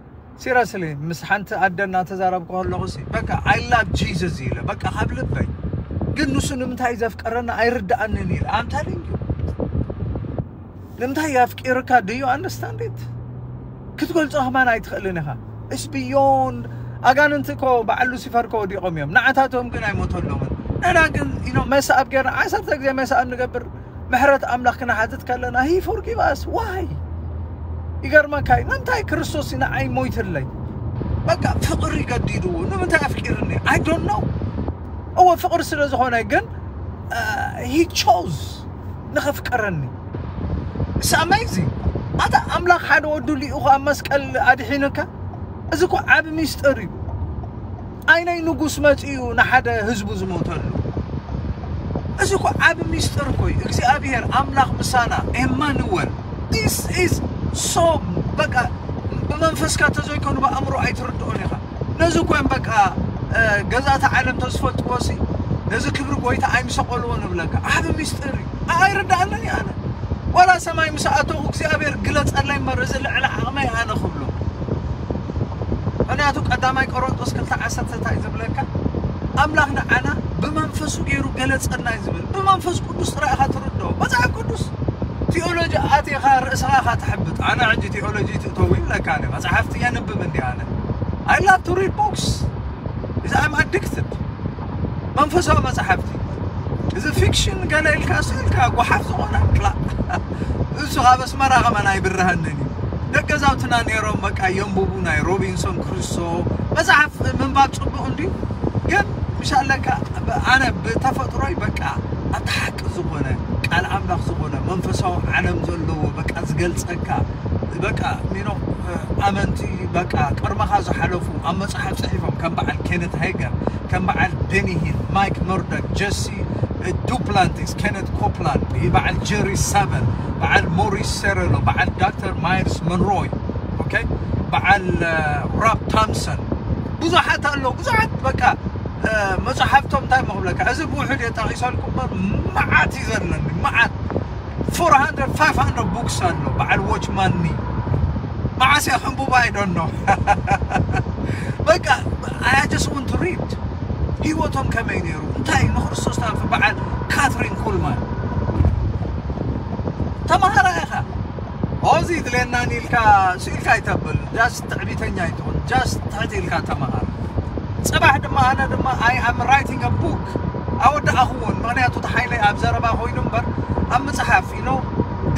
ሲረስሊ ምስ ሓንቲ ኣደ እናተዛረብኩ ከለኹ ሲ በቃ I love Jesus ኢለ በቃ ካብ ልበይ ግን ንሱ ንምንታይ ዘፍቀረና ኣይርድኣንን ኢለ ኣምታሊንግ ንምንታይ ኣፍቂርካ do you understand it ክትገልጾ ከማን ኣይትኽእልን ኢኻ። It's beyond ኣጋንንቲ እኮ በዓል ሉሲፈር እኮ ወዲቖም እዮም። ንዓታቶም ግን ኣይሞተሎምን። ንሕና ግን you know መሰኣብ ጌርና ዓሰርተ ግዜ መሰኣብ ንገብር ምሕረት ኣምላኽ ክነሓትት ከለና he forgive us why? ይገርመካ እዩ። ንምንታይ ክርስቶስ ንዓይ ሞይትለይ? በቃ ፍቕሪ ገዲድዎ ንምንታይ ኣፍቂርኒ? I don't know። እወ ፍቕሪ ስለ ዝኾነ ግን he chose ንኸፍቅረኒ። It's amazing። ኣታ ኣምላኽ ሓደ ወዱ ልኢኹ ኣብ መስቀል ኣድሒኑካ። እዚ እኮ ዓቢ ሚስጥር እዩ። ኣይናይ ንጉስ መጺኡ ንሓደ ህዝቡ ዝሞተሉ። እዚ እኮ ዓቢ ሚስጥር እኮ እዩ። እግዚኣብሔር ኣምላኽ ምሳና ኤማኑወል። This is so በቃ ብመንፈስካ ተዘይኮኑ ብኣእምሮ ኣይትርድኦን ኢኻ። ነዚ እኮ እዮም በቃ ገዛእቲ ዓለም ተዝፈልጥዎ ሲ ነዚ ክብሪ ጎይታ ኣይምሰቀልዎ ንብለካ። ዓቢ ሚስጥር እዩ። ኣይርድኣንን እዩ ኣነ ዋላ ሰማይ ምስ ኣተኹ እግዚኣብሔር ግለጸለይ እምበር እዚ ልዕሊ ዓቕመይ ኣነ ክብሎ። ምክንያቱ ቀዳማይ ቆሮንጦስ ክልተ ዓሰርተ እንታይ ዝብለካ ኣምላኽ ንዓና ብመንፈሱ ገይሩ ገለጸና እዩ ዝብል። ብመንፈስ ቅዱስ ጥራይ ኢኻ ትርድኦ። መጽሓፍ ቅዱስ ቲኦሎጂ ኣቲኻ ርእስኻ ኢኻ ትሕብጥ። ኣነ ሕጂ ቲኦሎጂ ትእተው ይብለካ ኣነ መጽሓፍቲ የንብብ እንዲ ኣነ I love to read books. እዚ I'm addicted መንፈሳዊ መጽሓፍቲ እዚ ፊክሽን ገለ ኢልካ ስኢልካ ጓሓፍ ዝኾነ ላ እሱ ካብ ኣስመራ ከማን ኣይብርሃንን እዩ። ደገዛውትና ነይሮም በቃ የንብቡ ናይ ሮቢንሶን ክሩሶ መጽሓፍ ምንባብ ጽቡቕ እንዲ ግን ምሻለካ ኣነ ብተፈጥሮይ በቃ ኣታ ሓቂ ዝኾነ ቃል ኣምላኽ ዝኾነ መንፈሳዊ ዓለም ዘለዎ በቃ ዝገልጸካ በቃ ሚኖ ኣመንቲ በቃ ቅድመኻ ዝሓለፉ ኣብ መፅሓፍ ፅሒፎም ከም በዓል ኬነት ሃይገር፣ ከም በዓል ቤኒ ሂል፣ ማይክ መርዶክ፣ ጀሲ ዱፕላንቲስ፣ ኬነት ኮፕላንድ፣ በዓል ጀሪ ሳቨል፣ በዓል ሞሪስ ሴሬሎ፣ በዓል ዶክተር ማይልስ መንሮይ፣ ኦኬ፣ በዓል ራብ ታምሰን፣ ብዙሓት ኣለዉ። ብዙሓት በቃ መፅሓፍቶም እንታይ መኽብለካ፣ እዚ ብውሕድ የጣቂሰልኩም እምበር መዓት እዩ ዘለኒ፣ መዓት። Four hundred, five hundred books ኣሎ በዓል ዎችማኒ። መዓስ እያ ከንብባ? I don't know። በቃ I just want to read። ህይወቶም ከመይ ነይሩ፣ እንታይ ንክርስቶስ ታልፍ፣ በዓል ካትሪን ኩልማን። ተማሃራ ኢኻ። ኦዚ ድሌናን ኢልካ ስኢልካ ኣይተብል። ጃስት ትዕቢተኛ ኣይትኹን። ጃስት ትሕት ኢልካ ተማሃር። ፅባሕ ድማ ኣነ ድማ I am writing a book። ኣወዳእኽዎን፣ ምኽንያቱ ተሓይለይ ኣብ ዘረባ ኮይኑ እምበር ኣብ መፅሓፍ ኢኖ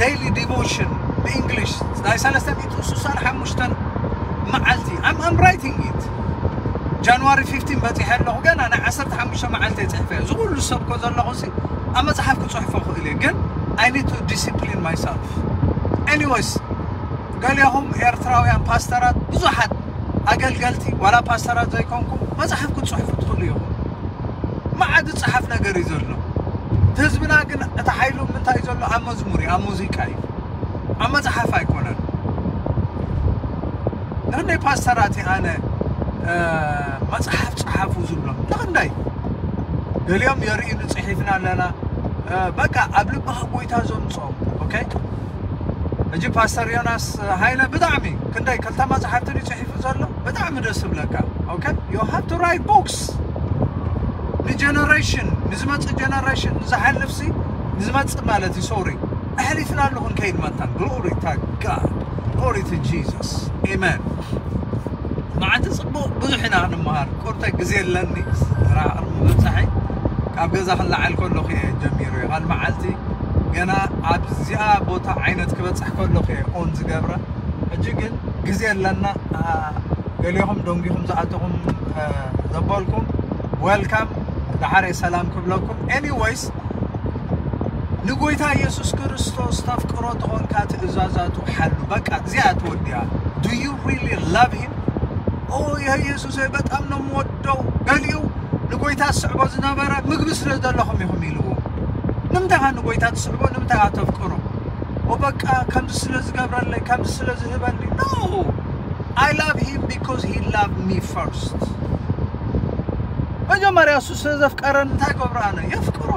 ዴይሊ ዲቮሽን ብእንግሊሽ ናይ ሰለስተ ሚእትን ስሳን ሓሙሽተን መዓልቲ I'm writing it። ጃንዋሪ fifteen በፂሐ ኣለኹ፣ ገና ናይ ዓሰርተ ሓሙሽተ መዓልቲ የፅሕፈ እዚ ኩሉ ሰብ ኮ ዘለኹ ሲ ኣብ መፅሓፍ ክፅሕፎ ክእል እየ፣ ግን I need to discipline myself። Anyways፣ ገሊኹም ኤርትራውያን ፓስተራት ብዙሓት ኣገልገልቲ ዋላ ፓስተራት ዘይኮንኩም መፅሓፍ ክትፅሕፉ ትኽእሉ ኢኹም። መዓት ዝፀሓፍ ነገር እዩ ዘሎ። እቲ ህዝብና ግን እቲ ሓይሉ ምንታይ እዩ ዘሎ? ኣብ መዝሙር እዩ፣ ኣብ ሙዚቃ እዩ፣ ኣብ መፅሓፍ ኣይኮነን። ንክንደይ ፓስተራት እየ ኣነ መፅሓፍ ፀሓፉ ዝብሎም ንክንደይ ገሊኦም የርእዩ ንፅሒፍና ኣለና። በቃ ኣብ ልብኻ ጎይታ ዘምፅኦም። ኦኬ፣ ሕጂ ፓስተር ዮናስ ሃይለ ብጣዕሚ ክንደይ ክልተ መፅሓፍቲ ድዩ ፅሒፉ ዘሎ? ብጣዕሚ ደስ ዝብለካ። ኦኬ፣ you have to write books ንጀነሬሽን፣ ንዝመፅእ ጀነሬሽን፣ ንዝሓልፍ ሲ ንዝመፅእ ማለት እዩ። ሶሪ፣ ኣሕሊፍና ኣለኹ ንከይድ መታን። Glory to God, glory to Jesus, amen። መዓልቲ ፅቡቕ ብዙሕ ኢና ክንመሃር። ቁርተ ግዜ ኣለኒ ስራሕ ቅድሚ ምብፃሐይ ካብ ገዛ ክለዓል ከለኹ እየ ጀሚሩ እየ። ካልእ መዓልቲ ገና ኣብዚኣ ቦታ ዓይነት ክበፅሕ ከለኹ እየ ኦን ዝገብረ። ሕጂ ግን ግዜ ኣለና። ገሊኹም ደንጊኹም ዝኣተኹም ዘበልኩም፣ ዌልካም፣ ደሓር እየ ሰላም ክብለኩም። Anyways፣ ንጎይታ ኢየሱስ ክርስቶስ ተፍቅሮ ተኾንካ ትእዛዛቱ ሓሉ። በቃ እዚኣ ትወዲያ። Do you really love him? ኦ የኢየሱስ በጣም ነው የምወደው። ገሊኡ ንጎይታ ዝስዕቦ ዝነበረ ምግቢ ስለ ዘለኹም ኢኹም ኢልዎ። ንምንታይ ንጎይታ ትስዕቦ? ንምንታይ ተፍቅሮ? ኦ በቃ ከምዚ ስለ ዝገብረለይ፣ ከምዚ ስለ ዝህበኒ። No, I love him because he loved me first። መጀመርያ እሱ ስለ ዘፍቀረን እንታይ ገብሮ? ኣነ የፍቅሮ።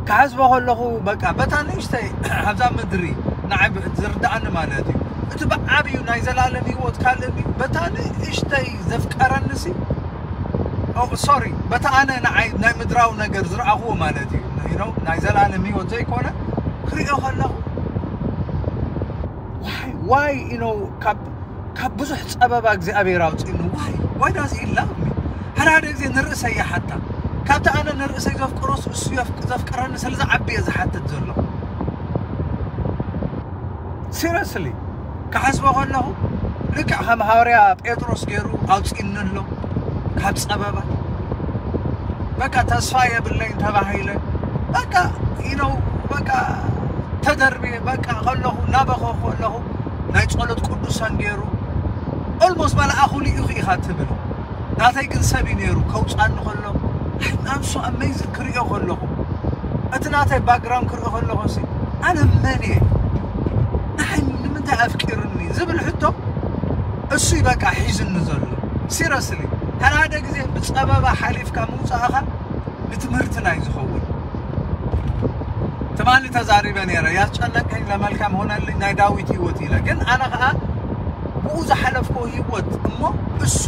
ክሓስቦ ከለኹ በቃ በታ ንእሽተይ ኣብዛ ምድሪ ንዓይ ዝርድኣኒ ማለት እዩ። እቲ ብዓብዩ ናይ ዘላለም ህይወት ካልእ እዩ። በታ ንእሽተይ ዘፍቀረኒ ሲ ሶሪ፣ በታ ኣነ ንዓይ ናይ ምድራዊ ነገር ዝረኣኽዎ ማለት እዩ። You know፣ ናይ ዘላለም ህይወት ዘይኮነ ክሪኦ ከለኹ ዋይ ዋይ you know ካብ ካብ ብዙሕ ጸበባ እግዚኣብሔር ኣውፅእኒ። ዋይ ዋይ ዳዝ ሂ ላቭ ሚ? ሓደ ሓደ ግዜ ንርእሰይ ይሓታ። ካብቲ ኣነ ንርእሰይ ዘፍቅሮስ እሱ ዘፍቅረኒ ስለ ዝዓቢ እየ ዝሓትት ዘሎ። ሲሪየስሊ ክሓስቦ ከለኹ ልክዕ ከም ሃዋርያ ጴጥሮስ ገይሩ ኣውፅእኒ ኣሎ ካብ ጸበባ። በቃ ተስፋ የብለይን ተባሂለ በቃ you know በቃ ተደርብየ በቃ ከለኹ እናበኸኹ ከለኹ ናይ ጸሎት ቅዱሳን ገይሩ ኦልሞስት መልኣኹ ልኢኹ ኢኻ ትብል። ናተይ ግን ሰብ እዩ ነይሩ ከውፅኣኒ ከሎ I'm so amazed ክሪኦ ከለኹ እቲ ናተይ ባክግራውንድ ክሪኦ ከለኹ ሲ ኣነ መን እየ ንሓይ ንምንታይ ኣፍቂርኒ ዝብል ሕቶ እሱ እዩ በቃ ሒዝኒ ዘሎ። ሲሪየስሊ ሓደ ሓደ ግዜ ብፀበባ ሓሊፍካ ምውፃእኻ ንትምህርትና እዩ ዝኸውን። ትማሊ ተዛሪበ ነይረ ያስጨነቀኝ ለመልካም ሆነልኝ ናይ ዳዊት ህይወት ኢለ ግን ኣነ ከዓ ብኡ ዝሓለፍኮ ህይወት እሞ እሱ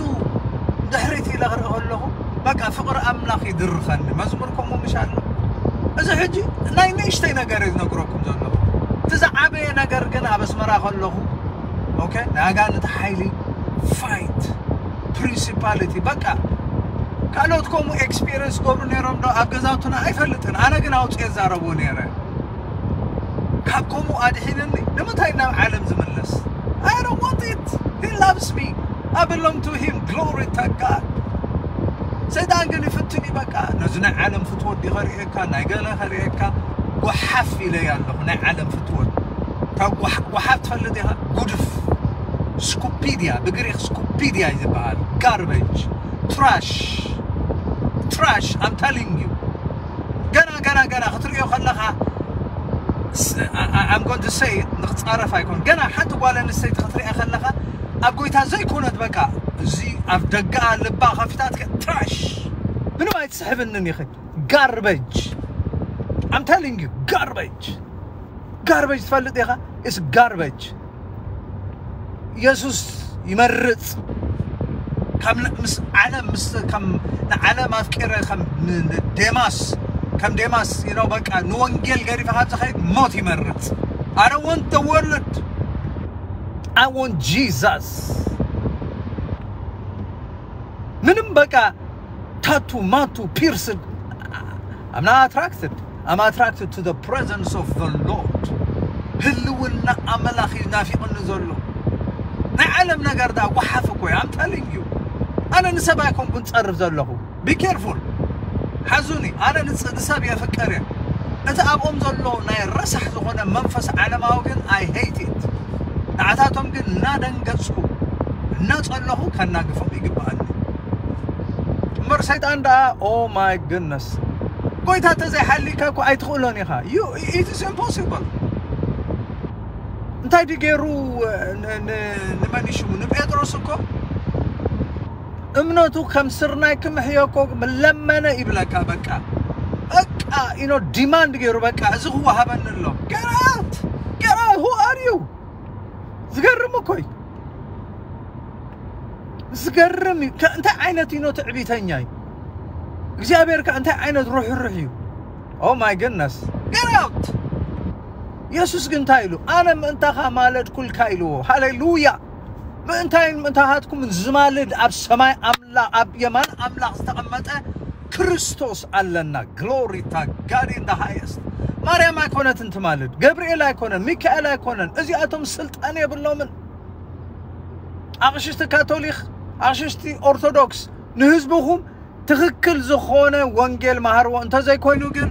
ድሕሪት ኢለ ክርኢ ከለኹ በቃ ፍቕሪ ኣምላኽ ይድርኸኒ። መዝሙር ከምኡ ምሽ ኣሎ። እዚ ሕጂ ናይ ንእሽተይ ነገር እዩ ዝነግረኩም ዘለኹ። እቲ ዝዓበየ ነገር ግን ኣብ ኣስመራ ከለኹ ኦኬ ናይ ኣጋንንቲ ሓይሊ ፋይት ፕሪንሲፓሊቲ በቃ ካልኦት ከምኡ ኤክስፒሪየንስ ገብሩ ነይሮም ዶ ኣብ ገዛውትና ኣይፈልጥን። ኣነ ግን ኣውፅኤ ዛረቦ ነይረ። ካብ ከምኡ ኣድሒንኒ ንምንታይ ናብ ዓለም ዝምለስ? I don't want it. He loves me. I belong to him. Glory to God. ሰይጣን ግን ይፍትን እዩ። በቃ ነዚ ናይ ዓለም ፍትወት ዲ ከርእየካ ናይ ገለ ከርእየካ ጓሓፍ ኢለያ ኣለኹ። ናይ ዓለም ፍትወት፣ እታ ጓሓፍ ትፈልጥ ኢኻ? ጉድፍ፣ ስኩፒድያ፣ ብግሪክ ስኩፒድያ እዩ ዝበሃል። ጋርበጅ፣ ትራሽ፣ ትራሽ። I'm telling you፣ ገና ገና ገና ክትሪኦ ከለኻ I'm going to say ንክፃረፍ ኣይኮን፣ ገና ሓንቲ ጓል ኣንስተይቲ ክትሪኣ ከለኻ ኣብ ጎይታ ዘይኮነት፣ በቃ እዚ ኣብ ደገኣ ልባ ከፊታት ትራሽ፣ ምንም ኣይትስሕብንን ኢኺ። ጋርበጅ፣ I'm telling you፣ ጋርበጅ። ጋርበጅ ትፈልጥ ኢኻ? It's ጋርበጅ። ኢየሱስ ይመርጽ። ከም ምስ ዓለም ምስ ከም ንዓለም ኣፍቂረ ከም ን- ን- ዴማስ ከም ዴማስ you know በቃ ንወንጌል ገዲፈ ካብ ዝኸይድ ሞት ይመርጽ። I don't want the world, I want Jesus። ምንም በቃ ታቱ ማቱ ፒርስድ I'm not attracted. I'm attracted to the presence of the Lord. ህልውና ኣምላኽ እዩ ናፊቕኒ ዘሎ። ናይ ዓለም ነገር ዳ ጓሓፍ እኮ እዩ። I'm telling you፣ ኣነ ንሰብ ኣይኮንኩን ጸርፍ ዘለኹ። Be careful፣ ሓዙኒ። ኣነ ንጽ- ንሰብ የፍቅር እየ። እቲ ኣብኦም ዘሎ ናይ ረሳሕ ዝኾነ መንፈስ ዓለማዊ ግን I hate it። ንዓታቶም ግን እናደንገጽኩ እናጸለኹ ከናግፎም ይግብኣኒ። እምበር ሰይጣን ደኣ፣ oh my goodness፣ ጎይታ ተዘይሓሊካ እኮ ኣይትኽእሎን ኢኻ። You, it is impossible። እንታይ ድዩ ገይሩ? ን- ን- ንመን እዩ ሽሙ? ንጴጥሮስ እኮ እምነቱ ከም ስርናይ ክምሕዮ እኮ ለመነ ይብለካ። በቃ በቃ you know demand ገይሩ፣ በቃ እዚ ክወሃበኒ ኣሎ። Get out! Get out! Who are you? ዝገርም እኮ እዩ። ዝገርም እዩ። ከ- እንታይ ዓይነት you know ትዕቢተኛ እዩ እግዚኣብሔር? ከ እንታይ ዓይነት ርሕሩሕ እዩ? Oh my goodness፣ get out! ኢየሱስ ግን እንታይ ኢሉ? ኣነ ምእንታኻ ማለድኩልካ ኢልዎ። ሃሌሉያ! ምእንታይን ምእንታኻትኩምን ዝማልድ ኣብ ሰማይ ኣምላኽ፣ ኣብ የማን ኣምላኽ ዝተቐመጠ ክርስቶስ ኣለና። Glory to God in the highest። ማርያም ኣይኮነትን ትማልድ፣ ገብርኤል ኣይኮነን፣ ሚካኤል ኣይኮነን። እዚኣቶም ስልጣን የብሎምን። ኣቕሽሽቲ ካቶሊክ፣ ኣቕሽሽቲ ኦርቶዶክስ፣ ንህዝብኹም ትኽክል ዝኾነ ወንጌል መሃርዎ። እንተዘይኮይኑ ግን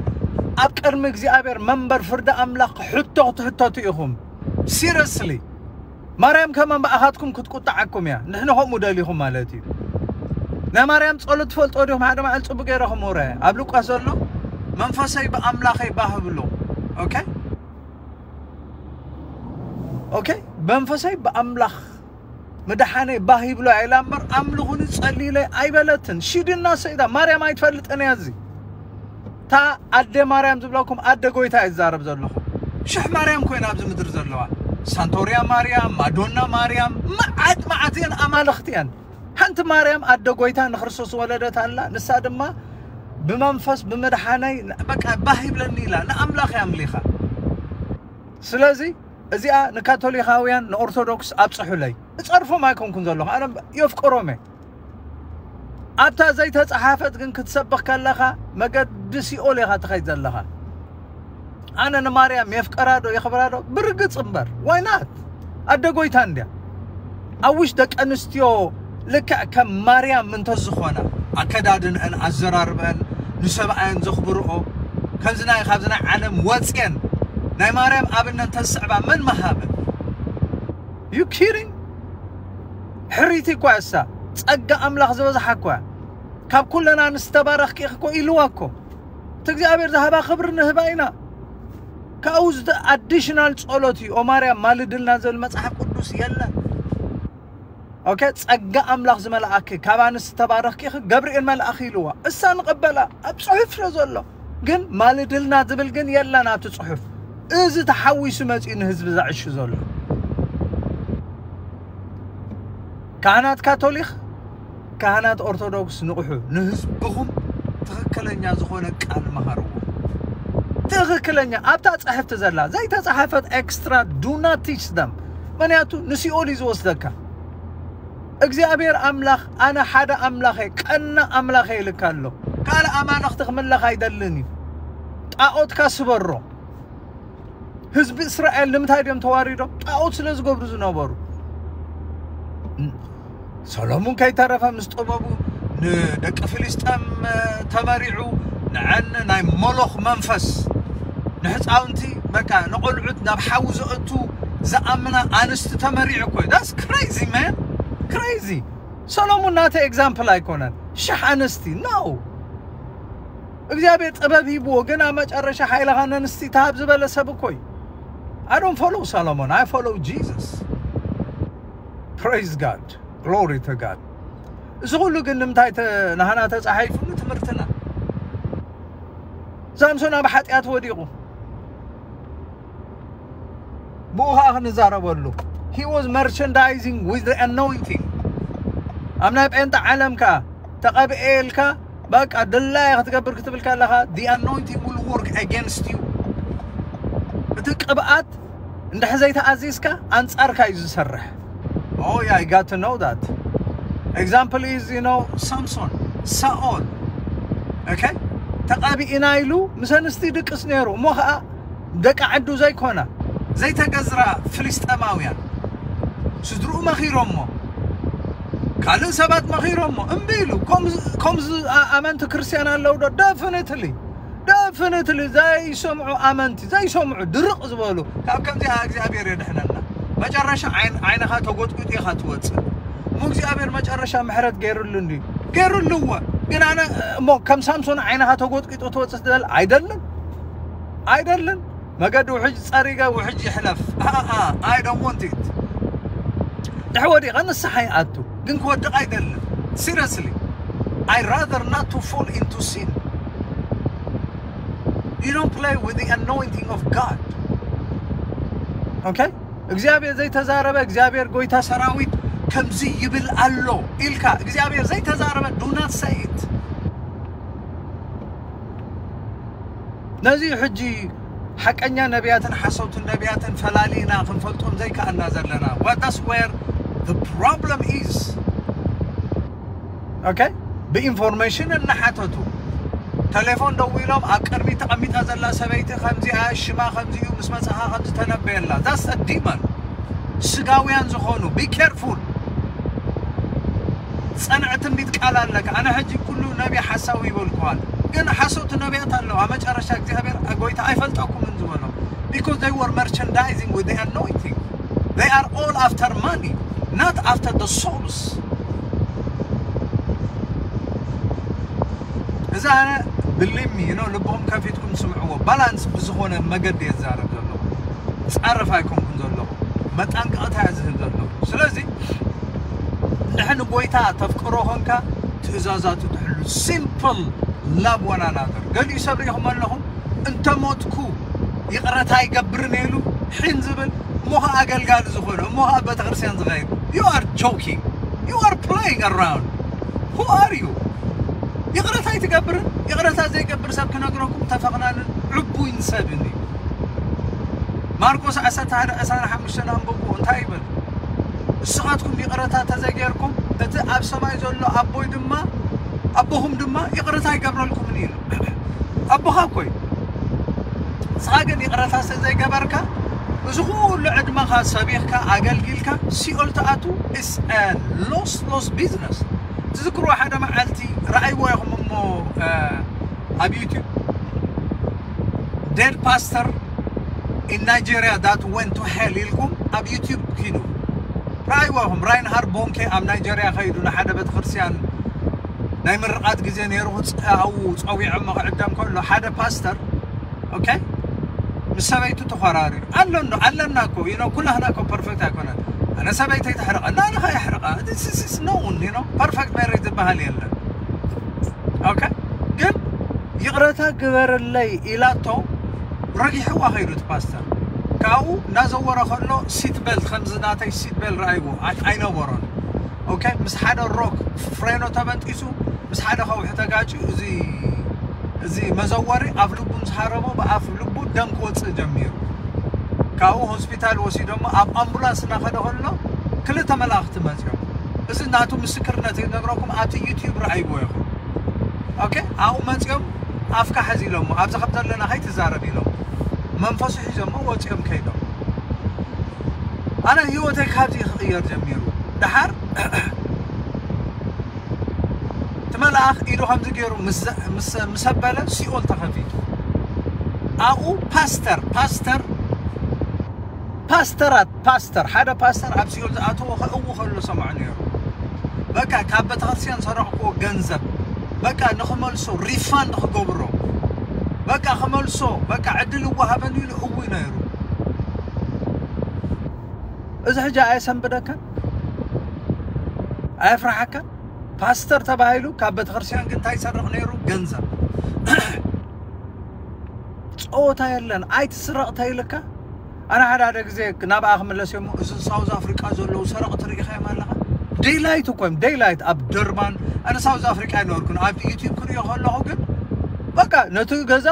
ኣብ ቅድሚ እግዚኣብሔር መንበር ፍርዲ ኣምላኽ ሕቶ ክትሕተቱ ኢኹም። Seriously፣ ማርያም ከማን ብኣኻትኩም ክትቁጣዓኩም እያ። ንሕና ከምኡ ደሊኹም ማለት እዩ። ናይ ማርያም ጸሎት ትፈልጦ ዲኹም? ሓደ መዓል ጽቡቅ ገይረ ክምህሮ እየ። ኣብ ሉቃስ ዘሎ መንፈሰይ ብኣምላኸይ ባህ ብሎ። ኦኬ፣ ኦኬ፣ መንፈሰይ ብኣምላኽ ምድሓነይ ባህ ይብሎ ኢላ እምበር ኣምልኹኒ ጸልዩለይ ኣይበለትን። ሽድና ሰይዳ ማርያም ኣይትፈልጥን እያ። እዚ እታ ኣደ ማርያም ዝብለኩም ኣደ ጎይታ እየ ዝዛረብ ዘለኹ። ሽሕ ማርያም ኮይና ኣብዚ ምድሪ ዘለዋ፣ ሳንቶርያ ማርያም፣ ማዶና ማርያም፣ መዓት መዓት እየን፣ ኣማልኽቲ እየን። ሓንቲ ማርያም ኣደ ጎይታ ንክርስቶስ ወለደት ኣላ። ንሳ ድማ ብመንፈስ ብምድሓነይ በቃ ባህ ይብለኒ ኢላ ንኣምላኽ እያ ኣምሊኻ። ስለዚ እዚኣ ንካቶሊካውያን ንኦርቶዶክስ ኣብፅሑለይ። እፀርፎም ኣይኮንኩን ዘለኹ፣ ኣነ የፍቅሮም እየ። ኣብታ ዘይተፀሓፈት ግን ክትሰብኽ ከለኻ መገዲ ሲኦል ኢኻ ትኸይድ ዘለኻ። ኣነ ንማርያም የፍቀራ ዶ የኽብራ ዶ? ብርግፅ እምበር፣ ዋይናት ኣደ ጎይታ እንድያ። ኣውሽ ደቂ ኣንስትዮ ልክዕ ከም ማርያም እንተዝኾና፣ ኣከዳድንአን፣ ኣዘራርበአን፣ ንሰብኣየን ዘኽብርኦ፣ ከምዚ ናይ ካብዚ ናይ ዓለም ወፅየን ናይ ማርያም ኣብነት እንተዝስዕባ መን መሃበን? You kidding? ሕሪቲ እኳ እሳ ጸጋ ኣምላኽ ዝበዝሓ እኳ፣ ካብ ኩለን ኣንስቲ ተባረኽኪ ኢኺ እኮ ኢልዋ እኮ። እቲ እግዚኣብሔር ዝሃባ ክብሪ ንህባ ኢና። ካብኡ ዝተ ኣዲሽናል ጸሎት እዩ። ኦ ማርያም ማልድልና ዝብል መጽሓፍ ቅዱስ የለን። ኦኬ፣ ጸጋ ኣምላኽ ዝመልኣኪ ካብ ኣንስቲ ተባረኽኪ ኢኺ፣ ገብርኤል መልኣኺ ኢልዋ። እሳ ንቐበላ ኣብ ጽሑፍ ስለ ዘሎ። ግን ማልድልና ዝብል ግን የለን ኣብቲ ጽሑፍ። እዚ ተሓዊሱ መጺኡ ንህዝቢ ዘዕሹ ዘሎ። ካህናት ካቶሊክ፣ ካህናት ኦርቶዶክስ ንቕሑ፣ ንህዝብኹም ትኽክለኛ ዝኾነ ቃል መሃርዎ። ትኽክለኛ ኣብታ ጽሕፍቲ ዘላ ዘይተጻሓፈት ኤክስትራ do not teach them። ምኽንያቱ ንሲኦል እዩ ዝወስደካ። እግዚኣብሔር ኣምላኽ ኣነ ሓደ ኣምላኸ ቀና ኣምላኸ ኢልካ ኣሎ። ካልእ ኣማልኽቲ ክምለኽ ኣይደልን እዩ። ጣዖትካ ስበሮ። ህዝቢ እስራኤል ንምንታይ ድዮም ተዋሪዶም? ጣዖት ስለ ዝገብሩ ዝነበሩ። ሰሎሙን ከይተረፈ ምስ ጥበቡ ንደቂ ፍልስጤም ተመሪዑ ንዐን ናይ ሞሎኽ መንፈስ ንሕፃውንቲ በቃ ንቆልዑት ናብ ሓዊ ዘእቱ ዝኣምና ኣንስቲ ተመሪዑ እኮ እዩ። That's crazy, man. Crazy. ሰሎሙን ናተ example ኣይኮነን። ሽሕ ኣንስቲ፣ no። እግዚኣብሔር ጥበብ ሂብዎ፣ ግን ኣብ መጨረሻ ሓይልኻ ነንስቲ ተሃብ ዝበለ ሰብ እኮ እዩ። I don't follow ሰሎሞን, I follow Jesus. Praise God. Glory to God. እዚ ኩሉ ግን ንምንታይ ተ- ናህና ተጻሒፉ? ንትምህርትና። ሳምሶን ኣብ ሓጢኣት ወዲቑ፣ ብኡ ኸዓ ክንዛረበሉ። He was merchandising with the anointing. ኣብ ናይ ጴንጣ ዓለም ከኣ ተቐብኤ ኢልካ በቃ ድላየ ክትገብር ክትብል ከለኻ the anointing will work against you። እቲ ቅብኣት እንድሕር ዘይተኣዚዝካ ኣንጻርካ እዩ ዝሰርሕ። Oh yeah, I got to know that. Example is, you know, Samson, ሳኦል። Okay? ተቐቢእና ኢሉ ምስ ኣንስቲ ድቅስ ነይሩ። እሞ ኸዓ ደቂ ዓዱ ዘይኮና ዘይተገዝራ ፍልስጠማውያን ስድርኡ መኺሮሞ፣ ካልእ ሰባት መኺሮሞ እምቢ ኢሉ። ከምዚ ኣመንቲ ክርስትያን ኣለዉ ዶ? Definitely, definitely ዘይሰምዑ ኣመንቲ፣ ዘይሰምዑ ድርቕ ዝበሉ። ካብ ከምዚኣ እግዚኣብሔር የድሕነና። መጨረሻ ዓይንኻ ተጎጥጒጡ ኢኻ ትወፅእ። እሞ እግዚኣብሔር መጨረሻ ምሕረት ገይሩሉ እንዲ ገይሩሉ እወ። ግን ኣነ እሞ ከም ሳምሶን ዓይንኻ ተጎጥጒጡ ትወፅእ ትደል? ኣይደልን፣ ኣይደልን። መገዲ ውሕጅ ጸሪገ ውሕጅ ይሕለፍ። I don't want it. ድሕ ወዲቐ ንስሓ ይኣቱ፣ ግን ክወድቕ ኣይደልን። Seriously, I rather not to fall into sin. You don't play with the anointing of God. Okay? እግዚኣብሔር ዘይተዛረበ፣ እግዚኣብሔር ጎይታ ሰራዊት ከምዚ ይብል ኣሎ ኢልካ እግዚኣብሔር ዘይተዛረበ do not say it። ነዚ ሕጂ ሓቀኛ ነቢያትን ሓሰውትን ነቢያትን ፈላሊና ክንፈልጦም ዘይከኣልና ዘለና። What that's where the problem is. Okay? ብኢንፎርሜሽን እናሓተቱ ተሌፎን ደዊሎም ኣብ ቅድሚ ተቐሚጣ ዘላ ሰበይቲ ከምዚኣ ሽማ ከምዚኡ ምስ መጻኻ ከምዚ ተነበየላ። That's a demon. ስጋውያን ዝኾኑ be careful። ጸንዕ ትንቢት ቃል ኣለካ። ኣነ ሕጂ ኩሉ ነቢ ሓሳዊ ይበልኩዋል፣ ግን ሓሰውቲ ነቢያት ኣለዋ። መጨረሻ እግዚኣብሔር ጎይታ ኣይፈልጠኩምን ዝበሎም because they were merchandising with the anointing. They are all after money, not after the souls. እዛ ኣነ ብሊሚ ነው ልቦም ከፊትኩም ስምዕዎ። ባላንስ ብዝኾነ መገዲ የዛረብ ዘለኹ፣ ጻረፍ ኣይኮንኩም ዘለኹ፣ መጣንቀቕታ እየ ዝህብ ዘለኹ። ስለዚ እንድሕር ንጎይታ ተፍቅሮ ኾንካ ትእዛዛቱ ትሕሉ። Simple love one another። ገሊኡ ሰብ ሪኢኹም ኣለኹም፣ እንተ ሞትኩ ይቕረታ ኣይገብርን ኢሉ ሒን ዝብል፣ እሞ ኸዓ ኣገልጋሊ ዝኾነ፣ እሞ ኸዓ ቤተክርስትያን ዝኸይድ። You are joking. You are playing around. Who are you? ይቕረታ ኣይትገብርን? ይቕረታ ዘይገብር ሰብ ክነግረኩም ተፈቕናንን ዕቡይን ሰብን እዩ። ማርቆስ ዓሰርተ ሓደ ዕስራን ሓሙሽተን ኣንብቡ፣ እንታይ ይብል? ንስኻትኩም ይቕረታ ተዘይጌርኩም እቲ ኣብ ሰማይ ዘሎ ኣቦይ ድማ ኣቦኹም ድማ ይቕረታ ይገብረልኩምን እዩ። ኣቦኻ እኮ እዩ። ንስኻ ግን ይቕረታ ስለ ዘይገበርካ እዚ ኩሉ ዕድመኻ ሰቢኽካ ኣገልጊልካ ሲኦል ትኣቱ። It's a loss, loss business። ትዝክርዎ ሓደ መዓልቲ ረኣይዎ ኢኹም እሞ ኣብ ዩቲዩብ dead pastor in Nigeria that went to hell ኢልኩም ኣብ ዩቲዩብ ኪዱ ረኣይዎ ኢኹም። ራይንሃርድ ቦንኬ ኣብ ናይጀርያ ከይዱ ንሓደ ቤተክርስትያን ናይ ምርቓት ግዜ ነይሩ። ኣብኡ ጸዊዖሞ ክዕደም ከሎ ሓደ ፓስተር okay ምስ ሰበይቱ ተኾራሪሩ ኣሎ። ኣለና እኮ you know ኩላህና እኮ ፐርፌክት ኣይኮነን። ኣነ ሰበይተይ ተሕርቐ እና ኣነ ከየሕርቐ this is known you know perfect marriage ዝበሃል የለን። Okay ግን ይቕረታ ግበርለይ ኢላቶ ረጊሕዋ ከይዱ እቲ ፓስተር። ካብኡ እናዘወረ ከሎ seat belt ከምዚ ናተይ seat belt ረኣይዎ ኣይነበሮን። Okay ምስ ሓደ ሮክ ፍሬኖ ተበንጢሱ ምስ ሓደ ከውሒ ተጋጭዩ እዚ እዚ መዘወሪ ኣፍ ልቡ ምስ ሃረሞ ብኣፍ ልቡ ደም ክወፅእ ጀሚሩ። ካብኡ ሆስፒታል ወሲዶሞ ኣብ ኣምቡላንስ እናኸደ ከሎ ክልተ መላእኽቲ መፅዮም። እዚ ናቱ ምስክርነት ይነግረኩም ኣብቲ ዩቲዩብ ረኣይዎ ኢኹም። Okay ኣብኡ መፅዮም ኣፍካ ሕዚ ኢሎሞ ኣብዚ ከም ዘለና ከይትዛረብ ኢሎም መንፈሱ ሒዞሞ ወፅዮም ከይዶም። ኣነ ህይወተይ ካብዚ ክቕየር ጀሚሩ። ደሓር እቲ መልኣኽ ኢዱ ከምዚ ገይሩ ምስ ኣበለ ሲኦል ተኸፊቱ። ኣብኡ ፓስተር ፓስተር ፓስተራት ፓስተር ሓደ ፓስተር ኣብ ሲኦል ዝኣተዎ ከእዊ ከሎ ሰምዖ ነይሩ። በቃ ካብ ቤተክርስትያን ሰረቕክዎ ገንዘብ በቃ ንኽመልሶ ሪፋንድ ክገብሮ በቃ ክመልሶ በቃ ዕድል እወሃበኒ ኢሉ እዊ ነይሩ። እዚ ሕጂ ኣየሰንብደካን ኣየፍርሓካን? ፓስተር ተባሂሉ ካብ ቤተክርስትያን ግን እንታይ ይሰርቕ ነይሩ? ገንዘብ። ጸወታ የለን። ኣይትስረቕ ተይልካ ኣነ ሓደ ሓደ ግዜ ናብኣ ክምለስ እሞ እዞም ሳውዝ ኣፍሪቃ ዘለዉ ሰረቕቲ ርኢኻዮም ኣለኻ? ዴይላይት እኮ እዮም ዴይላይት ኣብ ደርባን። ኣነ ሳውዝ ኣፍሪቃ ኣይነበርኩን። ኣብ ዩቲዩብ ክሪኦ ከለኹ ግን በቃ ነቲ ገዛ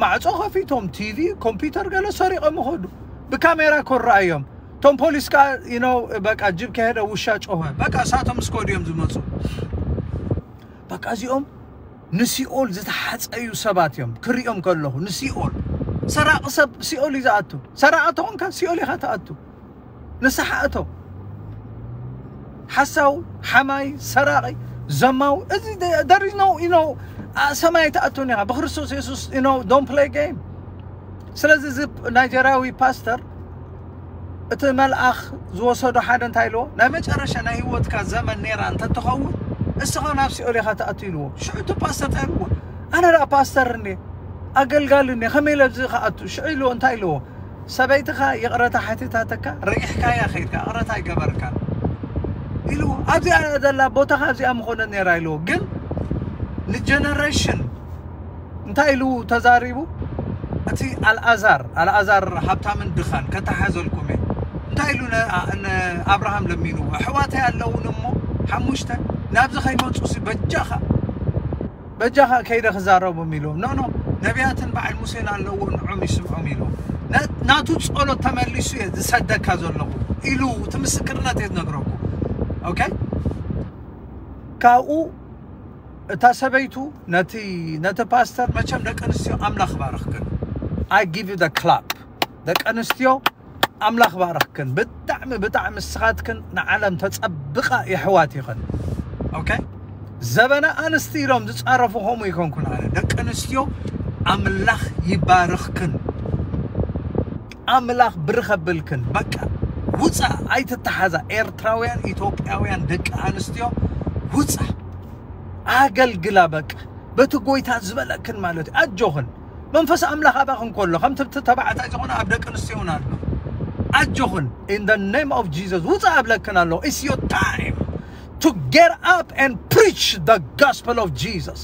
ማዕጾ ከፊቶም ቲቪ ኮምፒውተር ገለ ሰሪቖም ይኸዱ። ብካሜራ እኮ ይረኣዮም። እቶም ፖሊስ ከዓ you know በቃ ጅብ ከሄደ ውሻ ጮኸ። በቃ እሳቶም እስከ ድዮም ዝመፁ። በቃ እዚኦም ንሲኦል ዝተሓፀዩ ሰባት እዮም። ክሪኦም ከለኹ ንሲኦል ሰራቂ ሰብ ሲኦል እዩ ዝኣቱ። ሰራቂ ተኾንካ ሲኦል ኢኻ ትኣቱ። ንስሓ እቶ ሓሳው ሓማይ ሰራቂ ዘማው እዚ there is no you know ሰማይ ትኣቱን ኢኻ ብክርስቶስ የሱስ you know don't play game። ስለዚ እዚ ናይጀርያዊ ፓስተር እቲ መልኣኽ ዝወሰዶ ሓደ እንታይ ኢልዎ ናይ መጨረሻ ናይ ህይወትካ ዘመን ነይራ እንተትኸውን እስኻ ናብ ሲኦል ኢኻ ትኣቱ ኢልዎ። ሽዑ እቲ ፓስተር እንታይ ኢልዎ ኣነ ደኣ ፓስተር እኔ ኣገልጋሊ እኔ ከመይ ኢለ ኣብዚ ክኣቱ ሽዑ ኢልዎ እንታይ ኢልዎ ሰበይትኻ ይቕረታ ሓቲታተካ ረጊሕካያ ከይድካ ይቕረታ ኣይገበርካን ኢልዎ ኣብዚኣ ዘላ ቦታኻ ኣብዚኣ ምኾነት ነይራ ኢልዎ ግን ንጀነሬሽን እንታይ ኢሉ ተዛሪቡ እቲ ኣልኣዛር ኣልኣዛር ሃብታምን ድኻን ከተሓዘልኩም እየ እንታይ ኢሉ ንኣብርሃም ለሚኑ ኣሕዋተይ ኣለውን እሞ ሓሙሽተ ናብዚ ከይመፁ በጃኻ በጃኻ ከይደ ክዛረቦም ኢሉ ኖ ኖ ነቢያትን በዓል ሙሴን ኣለዎ ንዖም ይስምዖም ኢሉ ናቱ ፀሎት ተመሊሱ እየ ዝሰደካ ዘለኹ ኢሉ እቲ ምስክርነት እየ ዝነግረኩ ኦኬ ካብኡ እታ ሰበይቱ ነቲ ነቲ ፓስተር መቸም ደቂ ኣንስትዮ ኣምላኽ ባርኽክን I give you the clap ደቂ ኣንስትዮ ኣምላኽ ባርኽክን ብጣዕሚ ብጣዕሚ ስኻትክን ንዓለም ተጸብቓ የሕዋት ይኽን okay ዘበነ ኣንስቲ ኢሎም ዝጻረፉ ከምኡ ይኮንኩን ኣነ ደቂ ኣንስትዮ ኣምላኽ ይባርኽክን ኣምላኽ ብርኸብልክን በቃ ውፃ ኣይትተሓዛ ኤርትራውያን ኢትዮጵያውያን ደቂ ኣንስትዮ ውፃ ኣገልግላ በቃ በቲ ጎይታ ዝበለክን ማለት እዩ ኣጆኽን መንፈስ ኣምላኽ ኣባኽን ከሎ ከምቲ ተባዕታይ ዝኾነ ኣብ ደቂ ኣንስትዮ እውን ኣሎ ኣጆኽን in the name of Jesus ውፃ ኣብለክን ኣሎ it's your time to get up and preach the gospel of Jesus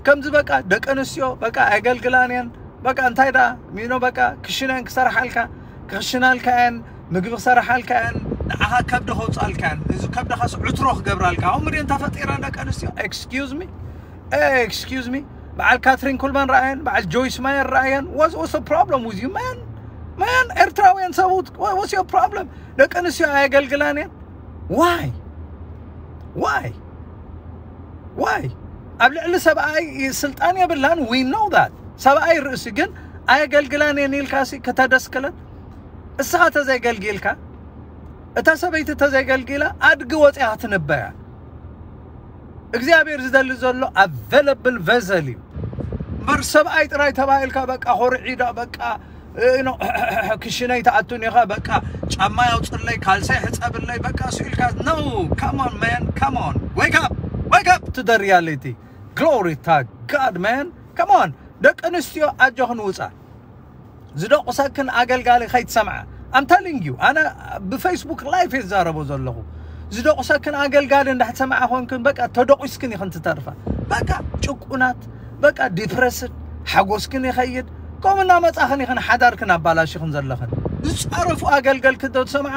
ከምዚ በቃ ደቂ ኣንስትዮ በቃ ኣገልግላን እየን በቃ እንታይ ደኣ ሚኖ በቃ ክሽነን ክሰርሓልካ ክኽሽናልካ እየን ምግቢ ክሰርሓልካ እየን ንዓኻ ከብዲ ከውፃልካ እየን እዚ ከብድኻስ ዕትሮ ክገብራልካ ከምኡ ድየን ተፈጢረን ደቂ ኣንስትዮ excuse me excuse me በዓል ካትሪን ኩልማን ረኣየን በዓል ጆይስ ማየር ረኣየን was was problem with you man man ኤርትራውያን ሰብኡት was your problem ደቂ ኣንስትዮ ኣየገልግላን እየን why why why ኣብ ልዕሊ ሰብኣይ ስልጣን የብላን we know that ሰብኣይ ርእሲ ግን ኣየገልግላን እየን ኢልካሲ ክተደስክለን እስኻ ተዘይገልጊልካ እታ ሰበይቲ ተዘይገልጊላ ኣድጊ ወፂኣ ክትንበያ እግዚኣብሔር ዝደሊ ዘሎ available vessel እዩ እምበር ሰብኣይ ጥራይ ተባሂልካ በቃ ኮርዒዳ በቃ ክሽነይ ትኣቱን ኢኻ በቃ ጫማ ያውፅለይ ካልሰይ ሕፀብለይ በቃ ስኢልካ no come on man come on wake up wake up to the reality glory to God man come on ደቂ ኣንስትዮ ኣጆኽን ውፃ ዝደቑሰክን ኣገልጋሊ ከይትሰምዓ I'm telling you ኣነ ብፌስቡክ ላይፍ የዛረቦ ዘለኹ ዝደቑሰክን ኣገልጋሊ እንዳሕሰምዓ ኮንክን በቃ ተደቑስክን ኢኽን ትተርፋ በቃ ጭቁናት በቃ ዲፕረስድ ሓጎስክን ይኸይድ ከምኡ እናመፃኽን ኢኽን ሓዳርክን ኣባላሽኽን ዘለኽን ዝፃረፉ ኣገልገልክን ተሰምዓ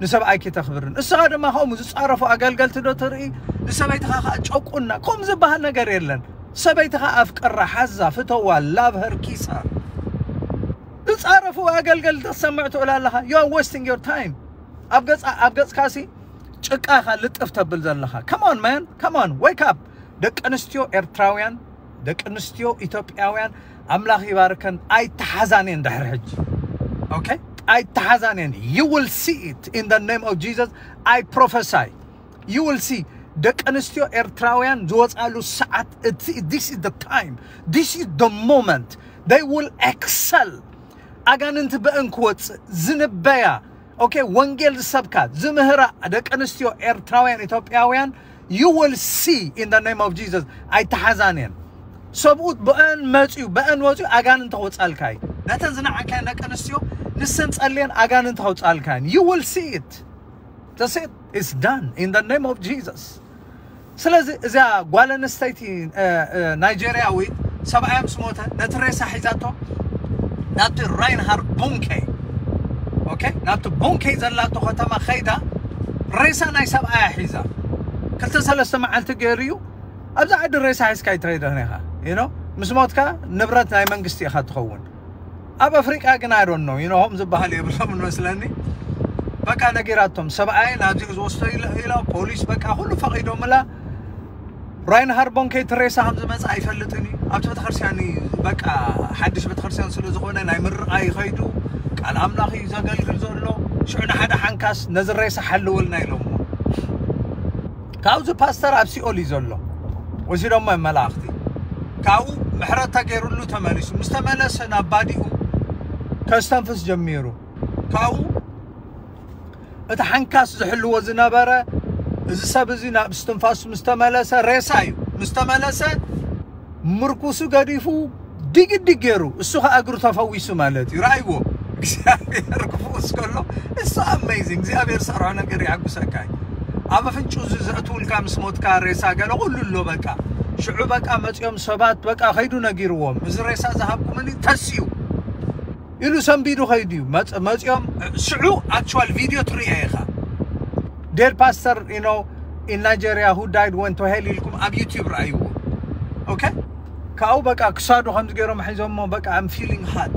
ንሰብኣይኪ ተኽብርን እስኻ ድማ ከምኡ ዝፃረፉ ኣገልገልቲ ዶ ትርኢ ንሰበይትኻ ከዓ ጨቁና ከምኡ ዝበሃል ነገር የለን ሰበይትኻ ኣፍቅራ ሓዛ ፍተዋ ላቭ ሀር ኪሳ ዝፃረፉ ኣገልገል ተሰምዕ ትውል ኣለኻ you are wasting your time ኣብ ገፃ ኣብ ገፅካሲ ጭቃኻ ልጥፍ ተብል ዘለኻ come on man come on wake up ደቂ ኣንስትዮ ኤርትራውያን ደቂ ኣንስትዮ ኢትዮጵያውያን ኣምላኽ ይባርከን ኣይተሓዛንየን ድሕሪ ሕጂ okay ኣይተሓዛንየን you will see it in the name of Jesus I prophesy you will see ደቂ ኣንስትዮ ኤርትራውያን ዝወፃሉ ሰዓት this is the time this is the moment They will excel. ኣጋንንቲ ብእን ክወፅእ ዝንበያ፣ okay፣ ወንጌል ዝሰብካ ዝምህራ ደቂ ኣንስትዮ ኤርትራውያን፣ ኢትዮጵያውያን፣ you will see in the name of Jesus። ኣይተሓዛንየን። ሰብኡት ብእን መፅዩ ብእን ወፅዩ ኣጋንንቲ ክወፃልካ እዩ። ነተን ዝነዓካየን ደቂ ኣንስትዮ ንሰን ፀልየን ኣጋንንቲ ከውፃልካ እየን። You will see it. That's it. It's done in the name of Jesus. ስለዚ እዚኣ ጓል ኣንስተይቲ ናይጀርያዊት ሰብኣያ ምስ ሞተ ነቲ ሬሳ ሒዛቶ ናብቲ ራይንሃርድ ቦንኬ፣ okay፣ ናብቲ ቦንኬ ዘላቶ ከተማ ከይዳ ሬሳ ናይ ሰብኣያ ሒዛ ክልተ ሰለስተ መዓልቲ ገይሩ እዩ። ኣብዛ ዓዲ ሬሳ ሒዝካ ኣይትኸይድን ኢኻ። You know፣ ምስ ሞትካ ንብረት ናይ መንግስቲ ኢኻ ትኸውን። ኣብ ኣፍሪቃ ግን I don't know፣ you know፣ ሆም ዝበሃል የብሎም መስለኒ። በቃ ነጊራቶም ሰብኣይ ናብዚኡ ዝወስዶ ኢላ፣ ፖሊስ በቃ ኩሉ ፈቒዶምላ። ራይንሃርድ ቦንኬ እቲ ሬሳ ከም ዝመጽእ ኣይፈልጥን እዩ። ኣብቲ ቤተክርስትያን እዩ በቃ ሓድሽ ቤተክርስትያን ስለ ዝኾነ ናይ ምርቓ ይኸይዱ። ቃል ኣምላኽ እዩ ዘገልግል ዘሎ። ሽዑ ንሓደ ሓንካስ ነዚ ሬሳ ሓልወልና ኢሎሞ። ካብዚ ፓስተር ኣብ ሲኦል እዩ ዘሎ። ወሲዶሞ መላእኽቲ። ካብኡ ምሕረት ተገይሩሉ ተመሊሱ። ምስ ተመለሰ ናብ ባዲኡ ከስተንፍስ ጀሚሩ። ካብኡ እቲ ሓንካስ ዝሕልዎ ዝነበረ እዚ ሰብ እዚ ናብ እስትንፋሱ ምስ ተመለሰ፣ ሬሳ እዩ፣ ምስ ተመለሰ ምርኩሱ ገዲፉ ድግድግ ገይሩ፣ እሱ ኸዓ እግሩ ተፈዊሱ ማለት እዩ። ረኣይዎ፣ እግዚኣብሔር ክፍውስ ከሎ እሱ ኣሜዚንግ። እግዚኣብሔር ዝሰርሖ ነገር የሐጉሰካ እዩ። ኣብ ኣፍንጭኡ እዚ ዘእትውልካ ምስ ሞትካ ሬሳ ገለ ኩሉ ኣሎ በቃ። ሽዑ በቃ መፅኦም ሰባት በቃ ከይዱ ነጊርዎም፣ እዚ ሬሳ ዝሃብኩምኒ ተስዩ ኢሉ ሰንቢዱ ከይዱ እዩ። መፅ- መፅኦም ሽዑ ኣክቹዋል ቪድዮ ትሪኦ ኢኻ። Dead pastor, you know, in Nigeria who died went to hell ኢልኩም ኣብ ዩቲዩብ ረኣይዎ። Okay፣ ካብኡ በቃ ክሳዱ ከምዚ ገይሮም ሒዞሞ በቃ I'm feeling hot,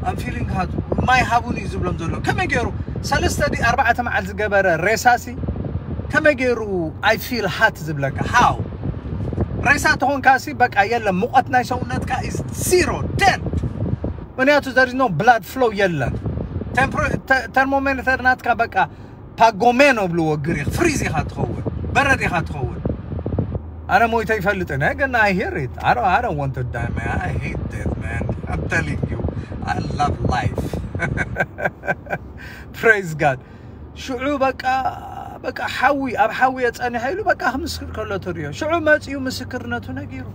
I'm feeling hot፣ ማይ ሃቡኒ እዩ ዝብሎም ዘሎ። ከመይ ገይሩ ሰለስተ ድዩ ኣርባዕተ መዓልቲ ዝገበረ ሬሳሲ ከመይ ገይሩ I feel hot ዝብለካ? How? ሬሳ ተኾንካሲ በቃ የለን፣ ሙቐት ናይ ሰውነትካ is zero, dead። ምክንያቱ there is no blood flow የለን። ተርሞሜተር ናትካ በቃ ፓጎሜኖ ብልዎ ግሪክ ፍሪዝ ኢኻ ትኸውን፣ በረድ ኢኻ ትኸውን። ኣነ ሞይተ ይፈልጥን፣ ግን I hear it. I don't, I don't want to die, man. I hate death, man. I'm telling you, I love life. Praise God. ሽዑ በቃ በቃ ሓዊ ኣብ ሓዊ የጸኒሐ ኢሉ በቃ ክምስክር ከሎ ትሪኦ። ሽዑ መጺኡ ምስክርነቱ ነጊሩ።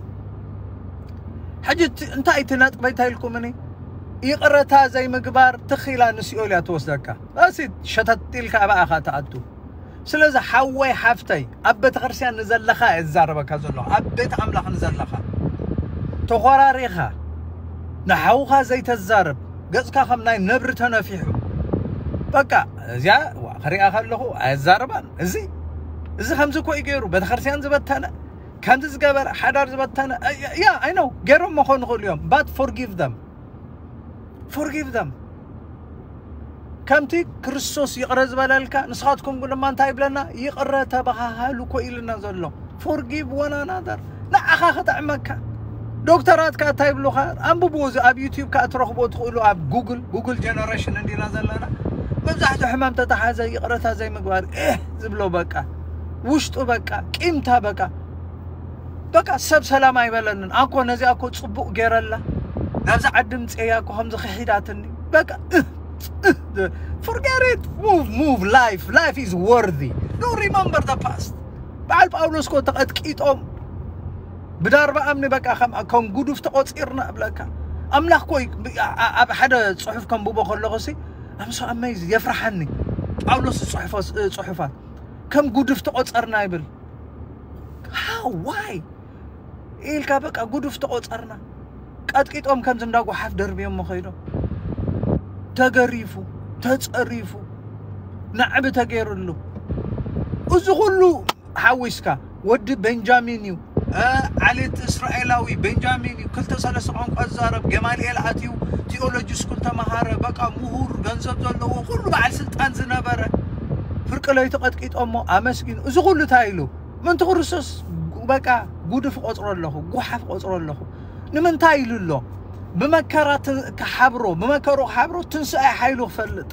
ሕጂ እቲ- እንታይ እቲ ነጥበይ እንታይ ኢልኩምኒ? ይቕረታ ዘይምግባር ትኺላ ንሲኦል እያ ትወስደካ። እሲት ሸተት ኢልካ ኣብኣኻ ትኣቱ። ስለዚ ሓወይ ሓፍተይ ኣብ ቤተ ክርስቲያን ንዘለኻ እየ ዝዛረበካ ዘለኹ፣ ኣብ ቤት ኣምላኽ ንዘለኻ ተኾራሪኻ ንሓውኻ ዘይተዛርብ፣ ገጽካ ከም ናይ ነብሪ ተነፊሑ። በቃ እዚኣ ዋ፣ ክሪኣ ከለኹ ኣየዛርባን። እዚ እዚ ከምዚ እኮ እዩ ገይሩ ቤተ ክርስቲያን ዝበተነ፣ ከምዚ ዝገበረ ሓዳር ዝበተነ። ያ፣ I know፣ ገይሮም መኾኑ ይኽእሉ እዮም። But forgive them, forgive them። ከምቲ ክርስቶስ ይቕረ ዝበለልካ ንስኻትኩም ድማ እንታይ ይብለና? ይቕረ ተበሃሃሉ እኮ ኢልና ዘሎ። Forgive one another። ንዓኻ ክጥዕመካ። ዶክተራትካ እንታይ ይብሉኻ? ኣንብብዎ፣ እዚ ኣብ ዩቲዩብ ከኣ ትረኽቦ ትኽእሉ፣ ኣብ ጉግል፣ ጉግል ጀነሬሽን እንዲና ዘለና። መብዛሕትኡ ሕማም ተተሓዘ ይቕረታ ዘይምግባር፣ ኤህ ዝብሎ በቃ። ውሽጡ በቃ፣ ቂምታ በቃ። በቃ ሰብ ሰላም ኣይበለንን። ኣኮ ነዚኣ እኮ ጽቡቕ ገይረላ። ናብዛ ዓዲ ምጽእያ እኮ ከምዚ ክሒዳትኒ። በቃ፣ እህ፣ እህ፣ forget it. Move, move. Life, life is worthy. Don't remember the past. በዓል ጳውሎስ እኮ ተቐጥቂጦም ብዳርባ እምኒ በቃ ከም፣ ከም ጉዱፍ ተቖጺርና እብለካ። ኣምላኽ እኮ ይ-፣ ብ-፣ ኣ-፣ ኣ-፣ ኣብ ሓደ ጽሑፍ ከንብቦ ከለኹ ሲ፣ I'm so amazed፣ የፍርሓኒ። ጳውሎስ ዝጽሕፎ ስ-፣ ጽሑፋት ከም ጉዱፍ ተቖጸርና ይብል። How? Why? ኢልካ በቃ ጉዱፍ ተቖጸርና። ቀጥቂጦም ከምዚ እንዳ ጓሓፍ ደርብዮሞ ከይዶም። ተገሪፉ፣ ተጸሪፉ፣ ናዕቢ ተገይሩሉ። እዚ ኩሉ ሓዊስካ ወዲ ቤንጃሚን እዩ፣ እ፣ ዓሌት እስራኤላዊ ቤንጃሚን እዩ፣ ክልተ ሰለስተ ቋንቋ ዝዛረብ፣ ገማልኤል ኣትዩ፣ ቲኦሎጂ ስኩል ተመሃረ፣ በቃ ምሁር፣ ገንዘብ ዘለዎ፣ ኩሉ በዓል ስልጣን ዝነበረ፣ ፍርቂ ለይቲ ቀጥቂጦሞ፣ ኣመስጊኑ። እዚ ኩሉ እንታይ ኢሉ? ምእንቲ ክርስቶስ በቃ ጉድፍ ቆጽሮ ኣለኹ፣ ጓሓፍ ቆጽሮ ኣለኹ። ንምንታይ ኢሉ ኣሎ? ብመከራ ት-፣ ክሓብሮ፣ ብመከሩ ክሓብሮ፣ ትንሳኤ ሓይሉ ክፈልጥ።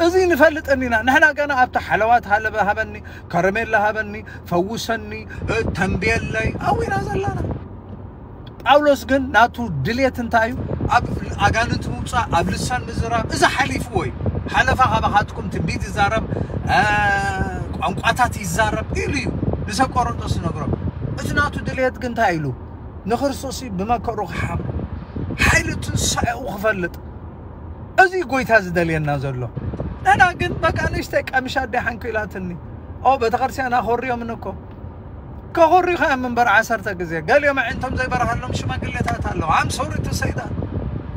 እዚ ንፈልጥ እንዲና። ንሕና ገና ኣብቲ ሓለዋት ሃለበ ሃበኒ፣ ከረሜላ ሃበኒ፣ ፈውሰኒ፣ እ፣ ተንብየለይ፣ ኣዊና ዘለና። ጳውሎስ ግን ናቱ ድሌት እንታይ እዩ? ኣብ ኣጋንንቲ ምውፃእ፣ ኣብ ልሳን ምዝራብ፣ እዚ ሓሊፍዎ እዩ። ሓለፋ ካባኻትኩም ትንቢት ይዛረብ፣ እ፣ ቋንቋታት ይዛረብ ኢሉ እዩ ንሰብ ቆሮንቶስ ዝነግሮም። እቲ ናቱ ድሌት ግን እንታይ ኢሉ? ንክርስቶስ እዩ ብመከሩ ክሓብሮ፣ ሓይሊ ትንሳኤኡ ክፈልጥ። እዚ ጎይታ ዝደልየና ዘሎ። ንሕና ግን በቃ ንእሽተይ ቀምሻ ኣደ ሓንኪላትኒ። ኦ፣ ቤተክርስትያን ኣኾርዮምን እኮ። ከኾርዩኻ እዮም እምበር ዓሰርተ ግዜ። ገሊኦም ኣዒንቶም ዘይበርሃሎም ሽማግሌታት ኣለዉ። I'm sorry to say that።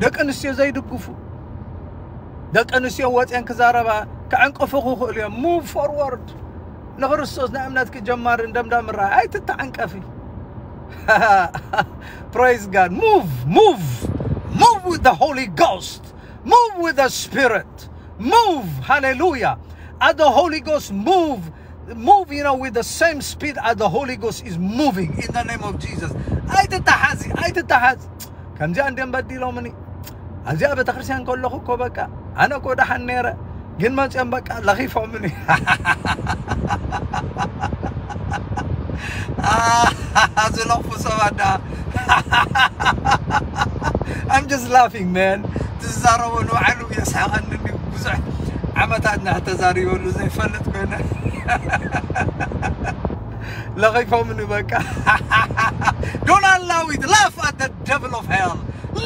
ደቂ ኣንስትዮ ዘይድግፉ። ደቂ ኣንስትዮ ወፅየን ክዛረባ ክዕንቅፉ ክኽእሉ እዮም። Move forward። ንክርስቶስ ናይ እምነትኪ ጀማርን ደምዳምን ረኣይ። ኣይትተዓንቀፊ። Praise God. Move, move, move with the Holy Ghost. Move with the Spirit. Move. Hallelujah. As the Holy Ghost move, move, you know, with the same speed as the Holy Ghost is moving in the name of Jesus. ኣይትተሓዚ፣ ኣይትተሓዚ። ከምዚኣ እንድዮም በዲሎምኒ። ኣብዚኣ ቤተክርስትያን ከለኹ እኮ በቃ ኣነ እኮ ደሓን ነይረ፣ ግን መፅኦም በቃ ለኺፎምኒ። ዝለኽፉ ሰባት ደኣ። I'm just laughing, man. ትዛረቦ ንባዕሉ የስሕቐኒ እንድዩ። ብዙሕ ዓመታት እና ተዛሪበሉ ዘይፈልጥ ኮይነ። ለኺፎምኒ በቃ። Don't allow it. Laugh at the devil of hell.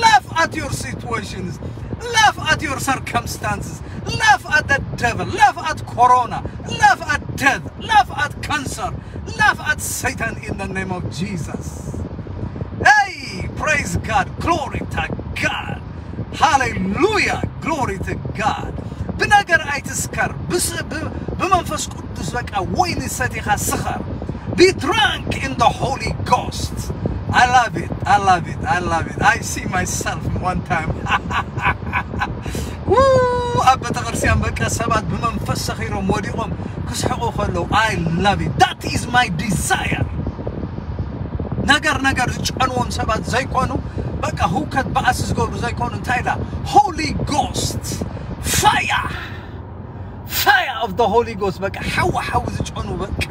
Laugh at your situations. Laugh at your circumstances. Laugh at the devil. Laugh at corona. Laugh at death. Laugh at cancer. Laugh at Satan in the name of Jesus. Hey, praise God. Glory to God. Hallelujah. Glory to God. ብነገር ኣይትስከር። ብስ-፣ ብ-፣ ብመንፈስ ቅዱስ በቃ ወይኒ ሰቲኻ ስኸር። Be drunk in the Holy Ghost. I love it. I love it. I love it. I see myself one time. Woo! ኣብ ቤተክርስትያን በቃ ሰባት ብመንፈስ ሰኺሮም ወዲቖም ክስሕቑ ከለዉ፣ I love it. That is my desire. ነገር ነገር ዝጨንዎም ሰባት ዘይኮኑ፣ በቃ ህውከት ባእሲ ዝገብሩ ዘይኮኑ፣ እንታይ ኢላ? Holy Ghost fire. Fire of the Holy Ghost። በቃ ሓዊ ሓዊ ዝጨኑ፣ በቃ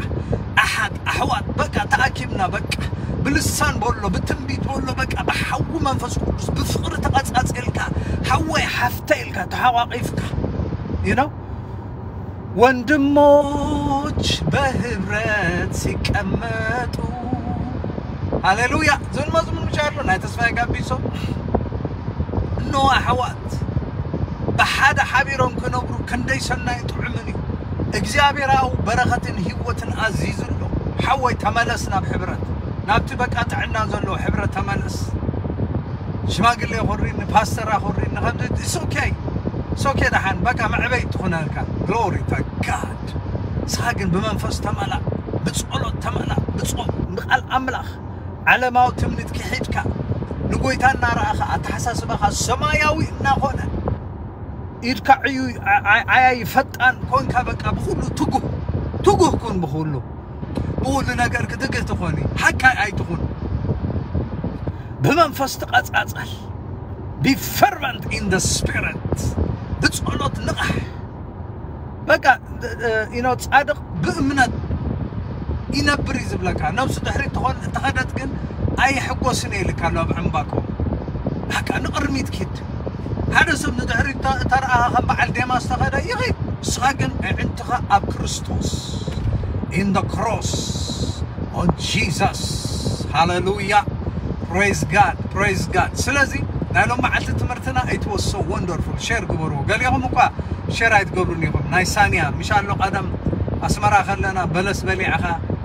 ኣሓት ኣሕዋት፣ በቃ ተኣኪብና፣ በቃ ብልሳን በሎ፣ ብትንቢት በሎ፣ በቃ ብሓዊ መንፈስ ቅዱስ ብፍቕሪ ተቐጻጺልካ፣ ሓወይ ሓፍተ ኢልካ ተሓቋቒፍካ፣ you know፣ ወንድሞች በህብረት ሲቀመጡ። ሃሌሉያ። ዝብል መዝሙር ምሽ ኣሎ ናይ ተስፋዬ ጋቢሶ። እነሆ ኣሕዋት ብሓደ ሓቢሮም ክነብሩ ክንደይ ሰናይ ጥዑምን እዩ። እግዚኣብሔራዊ በረኸትን ህይወትን ኣዚዙ ኣሎ። ሓወይ ተመለስ ናብ ሕብረት፣ ናብቲ በቃ ጥዕና ዘለዎ ሕብረት ተመለስ። ሽማግሌ ኮሪኒ፣ ፓስተር ኮሪኒ፣ ከምዚ it's okay. It's okay፣ ደሓን በቃ መዕበይ ትኹነልካ። Glory to God። ንስኻ ግን ብመንፈስ ተመላእ፣ ብጸሎት ተመላእ፣ ብጾም፣ ንቃል ኣምላኽ፣ ዓለማዊ ትምኒት ክሒድካ፣ ንጎይታ እናረኣኻ፣ ኣተሓሳስባኻ ሰማያዊ እናኾነ፣ ኢድካ ዕዩ፣ ዓ-፣ ዓ-፣ ዓያይ ፈጣን ኮንካ፣ በቃ ብኹሉ ትጉህ፣ ትጉህ ኩን ብኹሉ። ብኹሉ ነገር ክትግህ ትኾኒ፣ ሓካይ ኣይትኹን። ብመንፈስ ትቐጻጸል። Be fervent in the spirit። ብጸሎት ንቓሕ። በቃ፣ you know፣ ጻድቕ ብእምነት ይነብር እዩ ዝብለካ። ነብሱ ድሕሪት ትኾን፣ ተኸደት ግን ኣይሕጎስን እየ ኢልካ ኣሎ ኣብ ዕምባቆም። በቃ ንቕድሚት ኪድ። ሓደ ሰብ ንድሕሪት ተ-፣ ተረኣኻ ከም በዓል ዴማስ ተኸደ ይኺድ። ንስኻ ግን ኣዕንትኻ ኣብ ክርስቶስ። In the cross on Jesus. ሃሌሉያ። Praise God. Praise God. ስለዚ ናይ ሎም መዓልቲ ትምህርትና it was so wonderful። ሼር ግበርዎ። ገሊኹም እኳ ሼር ኣይትገብሩን ኢኹም። ናይ ሳንያ ምሽ ኣሎ ቀደም ኣስመራ ከለና በለስ በሊዕኻ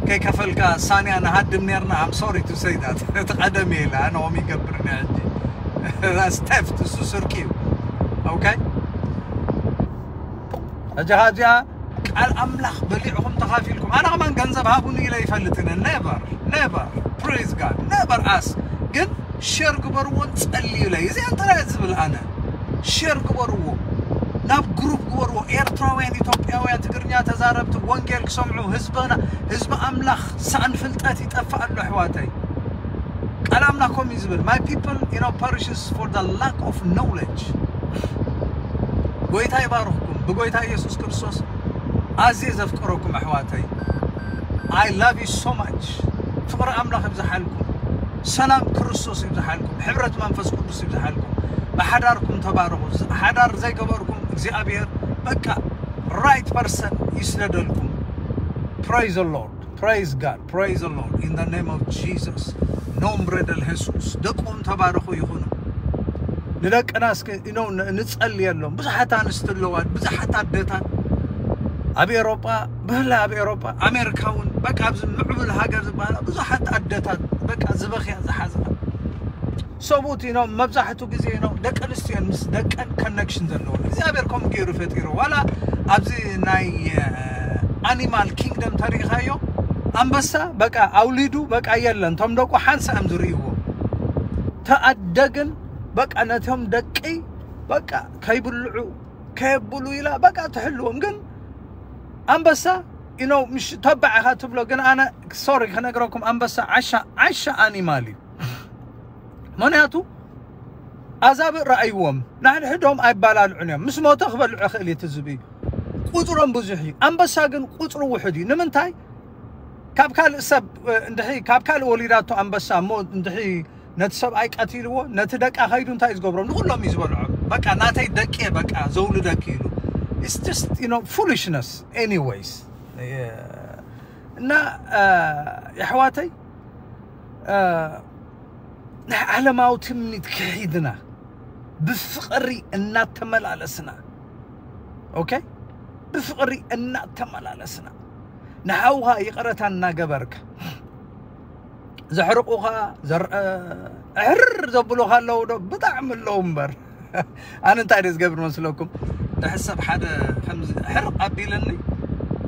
ከይከፈልካ ሳንያ ንሃድም ኔርና። I'm sorry to say that። እቲ ቀደም እየ ኢለ ኣነ ኦም ይገብርኒ ሕጂ። That's theft፣ እሱ ስርቂ እዩ። Okay? ሕጂ ካብዚኣ ቃል ኣምላኽ በሊዕኹም ተኻፊልኩም። ኣነ ከማን ገንዘብ ሃቡኒ ኢለ ይፈልጥን። Never, never. Praise God. Never ask። ግን ሼር ግበርዎን ጸልዩለይ። እዚ እንታይ ዝብል ኣነ? ሼር ግበርዎ። ናብ ግሩፕ ግበርዎ። ኤርትራውያን፣ ኢትዮጵያውያን፣ ትግርኛ ተዛረብቲ ወንጌል ክሰምዑ፣ ህዝብና፣ ህዝቢ ኣምላኽ ሳእን ፍልጠት ይጠፍእ ኣሎ ኣሕዋተይ። ቃል ኣምላኽ ከምኡ እዩ ዝብል፣ "My people, you know, perishes for the lack of knowledge." ጎይታ ይባርኽኩም። ብጎይታ ኢየሱስ ክርስቶስ ኣዝየ ዘፍቅረኩም ኣሕዋተይ። I love you so much። ፍቕሪ ኣምላኽ ይብዝሓልኩም። ሰላም ክርስቶስ ይብዝሓልኩም፣ ሕብረት መንፈስ ቅዱስ ይብዝሓልኩም። ብሓዳርኩም ተባረኹ። ሓዳር ዘይገበርኩም እግዚኣብሔር በቃ right person ይስደደልኩም። Praise the Lord, praise God, praise the Lord in the name of Jesus. Nombre del Jesus. ደቆም ተባረኹ ይኹኑ። ንደቅና እስኪ you know ንጸልየሎም። ብዙሓት ኣንስቲ ኣለዋ፣ ብዙሓት ኣደታት ኣብ ኤሮጳ፣ ብፍላይ ኣብ ኤሮጳ፣ ኣሜሪካ እውን በቃ ኣብዚ ምዕቡል ሃገር ዝበሃላ ብዙሓት ኣደታት በቃ ዝበኽያ ዝሓዝኣ ሰብኡት you know መብዛሕቱ ግዜ you know ደቂ ኣንስትዮ ምስ ደቀን connection ዘለወን እግዚኣብሔር ከምኡ ገይሩ ፈጢሩ። ዋላ ኣብዚ ናይ animal kingdom ተሪኢኻዮ፣ ኣንበሳ በቃ ኣውሊዱ በቃ የለን፣ እቶም ደቁ ሓንሳእ እዮም ዝርእይዎ። ተኣደግን በቃ ነቶም ደቂ በቃ ከይብልዑ ከየብሉ ኢላ በቃ ትሕልዎም። ግን ኣንበሳ you know ምሽ ተባዕ ኢኻ ትብሎ። ግን ኣነ sorry ክነግረኩም፣ ኣንበሳ ዓሻ ዓሻ animal እዩ። ምክንያቱ ኣዛብእ ረኣይዎም፣ ንሕድሕዶም ኣይባላልዑን እዮም። ምስ ሞተ ክበልዑ ይኽእል እዩ እቲ ዝብኢ፣ ቁፅሮም ብዙሕ እዩ። ኣንበሳ ግን ቁፅሩ ውሑድ እዩ። ንምንታይ? ካብ ካልእ ሰብ እንድሕሪ ካብ ካልእ ወሊዳቶ ኣንበሳ እሞ እንድሕሪ ነቲ ሰብኣይ ቀቲልዎ፣ ነቲ ደቃ ከይዱ እንታይ እዩ ዝገብሮም? ንኩሎም እዩ ዝበልዖም። በቃ ናተይ ደቂ እየ በቃ ዘውልደኪ ኢሉ። It's just you know foolishness anyways። እና የሕዋተይ ናይ ዓለማዊ ትምኒት ክሒድና ብፍቕሪ እናተመላለስና okay ብፍቕሪ እናተመላለስና ንሓውኻ ይቕረታ እናገበርካ ዘሕርቑኻ ዘር- ኣሕርር ዘብሉኻ ኣለዉ ዶ? ብጣዕሚ ኣለዉ እምበር። ኣነ እንታይ ደ ዝገብር መስለኩም? ድሕር ሰብ ሓደ ከምዚ ሕርቕ ኣቢለኒ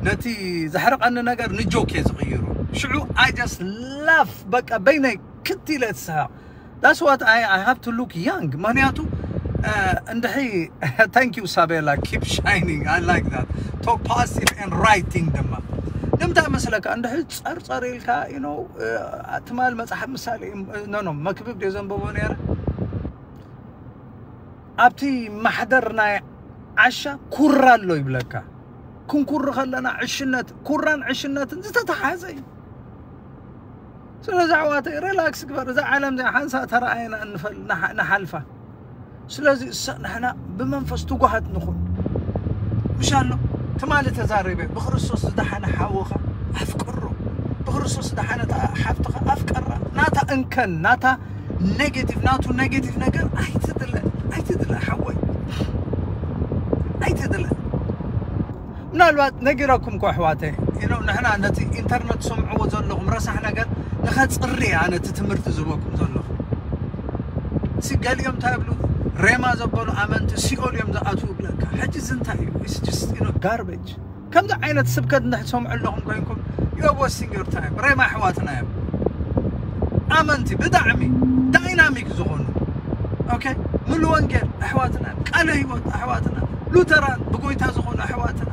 ነቲ ዘሕርቐኒ ነገር ንጆክ እየ ዝቕይሩ። ሽዑ I just laugh በቃ በይነይ ክት ኢለ ትስሃቕ። That's what I, I have to look young ምክንያቱ እንድሒ thank you ሳቤላ keep shining I like that talk positive and right thing ድማ ንምንታይ መስለካ እንድሒ ጸርጸር ኢልካ you know ትማል መጽሓፍ ምሳሌ no no መክብብ ደ ዘንበቦ ነረ ኣብቲ ማሕደር ናይ ዓሻ ኩራ ኣሎ ይብለካ። ክንኩር ከለና ዕሽነት ኩራን ዕሽነትን ዝተተሓዘ እዩ። ስለዚ ኣሕዋተይ ሪላክስ ግበር። እዛ ዓለም እዚኣ ሓንሳእ ተረኣየና ንፈል- ንሓ- ንሓልፋ። ስለዚ እሳ ንሕና ብመንፈስ ትጉሃት ንኹን። ምሻሎ ትማሊ ተዛሪበ ብክርስቶስ ዝደሓነ ሓውኻ ኣፍቅሮ፣ ብክርስቶስ ዝደሓነ ሓፍትኻ ኣፍቀራ። ናታ እንከን ናታ ኔጌቲቭ ናቱ ኔጌቲቭ ነገር ኣይትድለ ኣይትድለ ሓወይ ኣይትድለ። ምናልባት ነጊረኩም ኮ ኣሕዋተይ you know ንሕና ነቲ ኢንተርነት ትሰምዕዎ ዘለኹም ረሳሕ ነገር ንኸፅሪ ኣነ እቲ ትምህርቲ ዝህበኩም ዘለኹ። ሲ ገሊኦም እንታይ ይብሉ? ሬማ ዘበሉ ኣመንቲ ሲኦል እዮም ዝኣትዉ ይብለካ። ሕጂ እዚ እንታይ እዩ? It's just you know garbage። ከምዚ ዓይነት ስብከት እንድሕር ትሰምዑ ኣለኹም ኮይንኩም you are wasting your time። ሬማ ኣሕዋትና እዮም ኣመንቲ ብጣዕሚ ዳይናሚክ ዝኾኑ okay ሙሉ ወንጌል ኣሕዋትና እዮም። ቃለ ህይወት ኣሕዋትና ሉተራን ብጎይታ ዝኾኑ ኣሕዋትና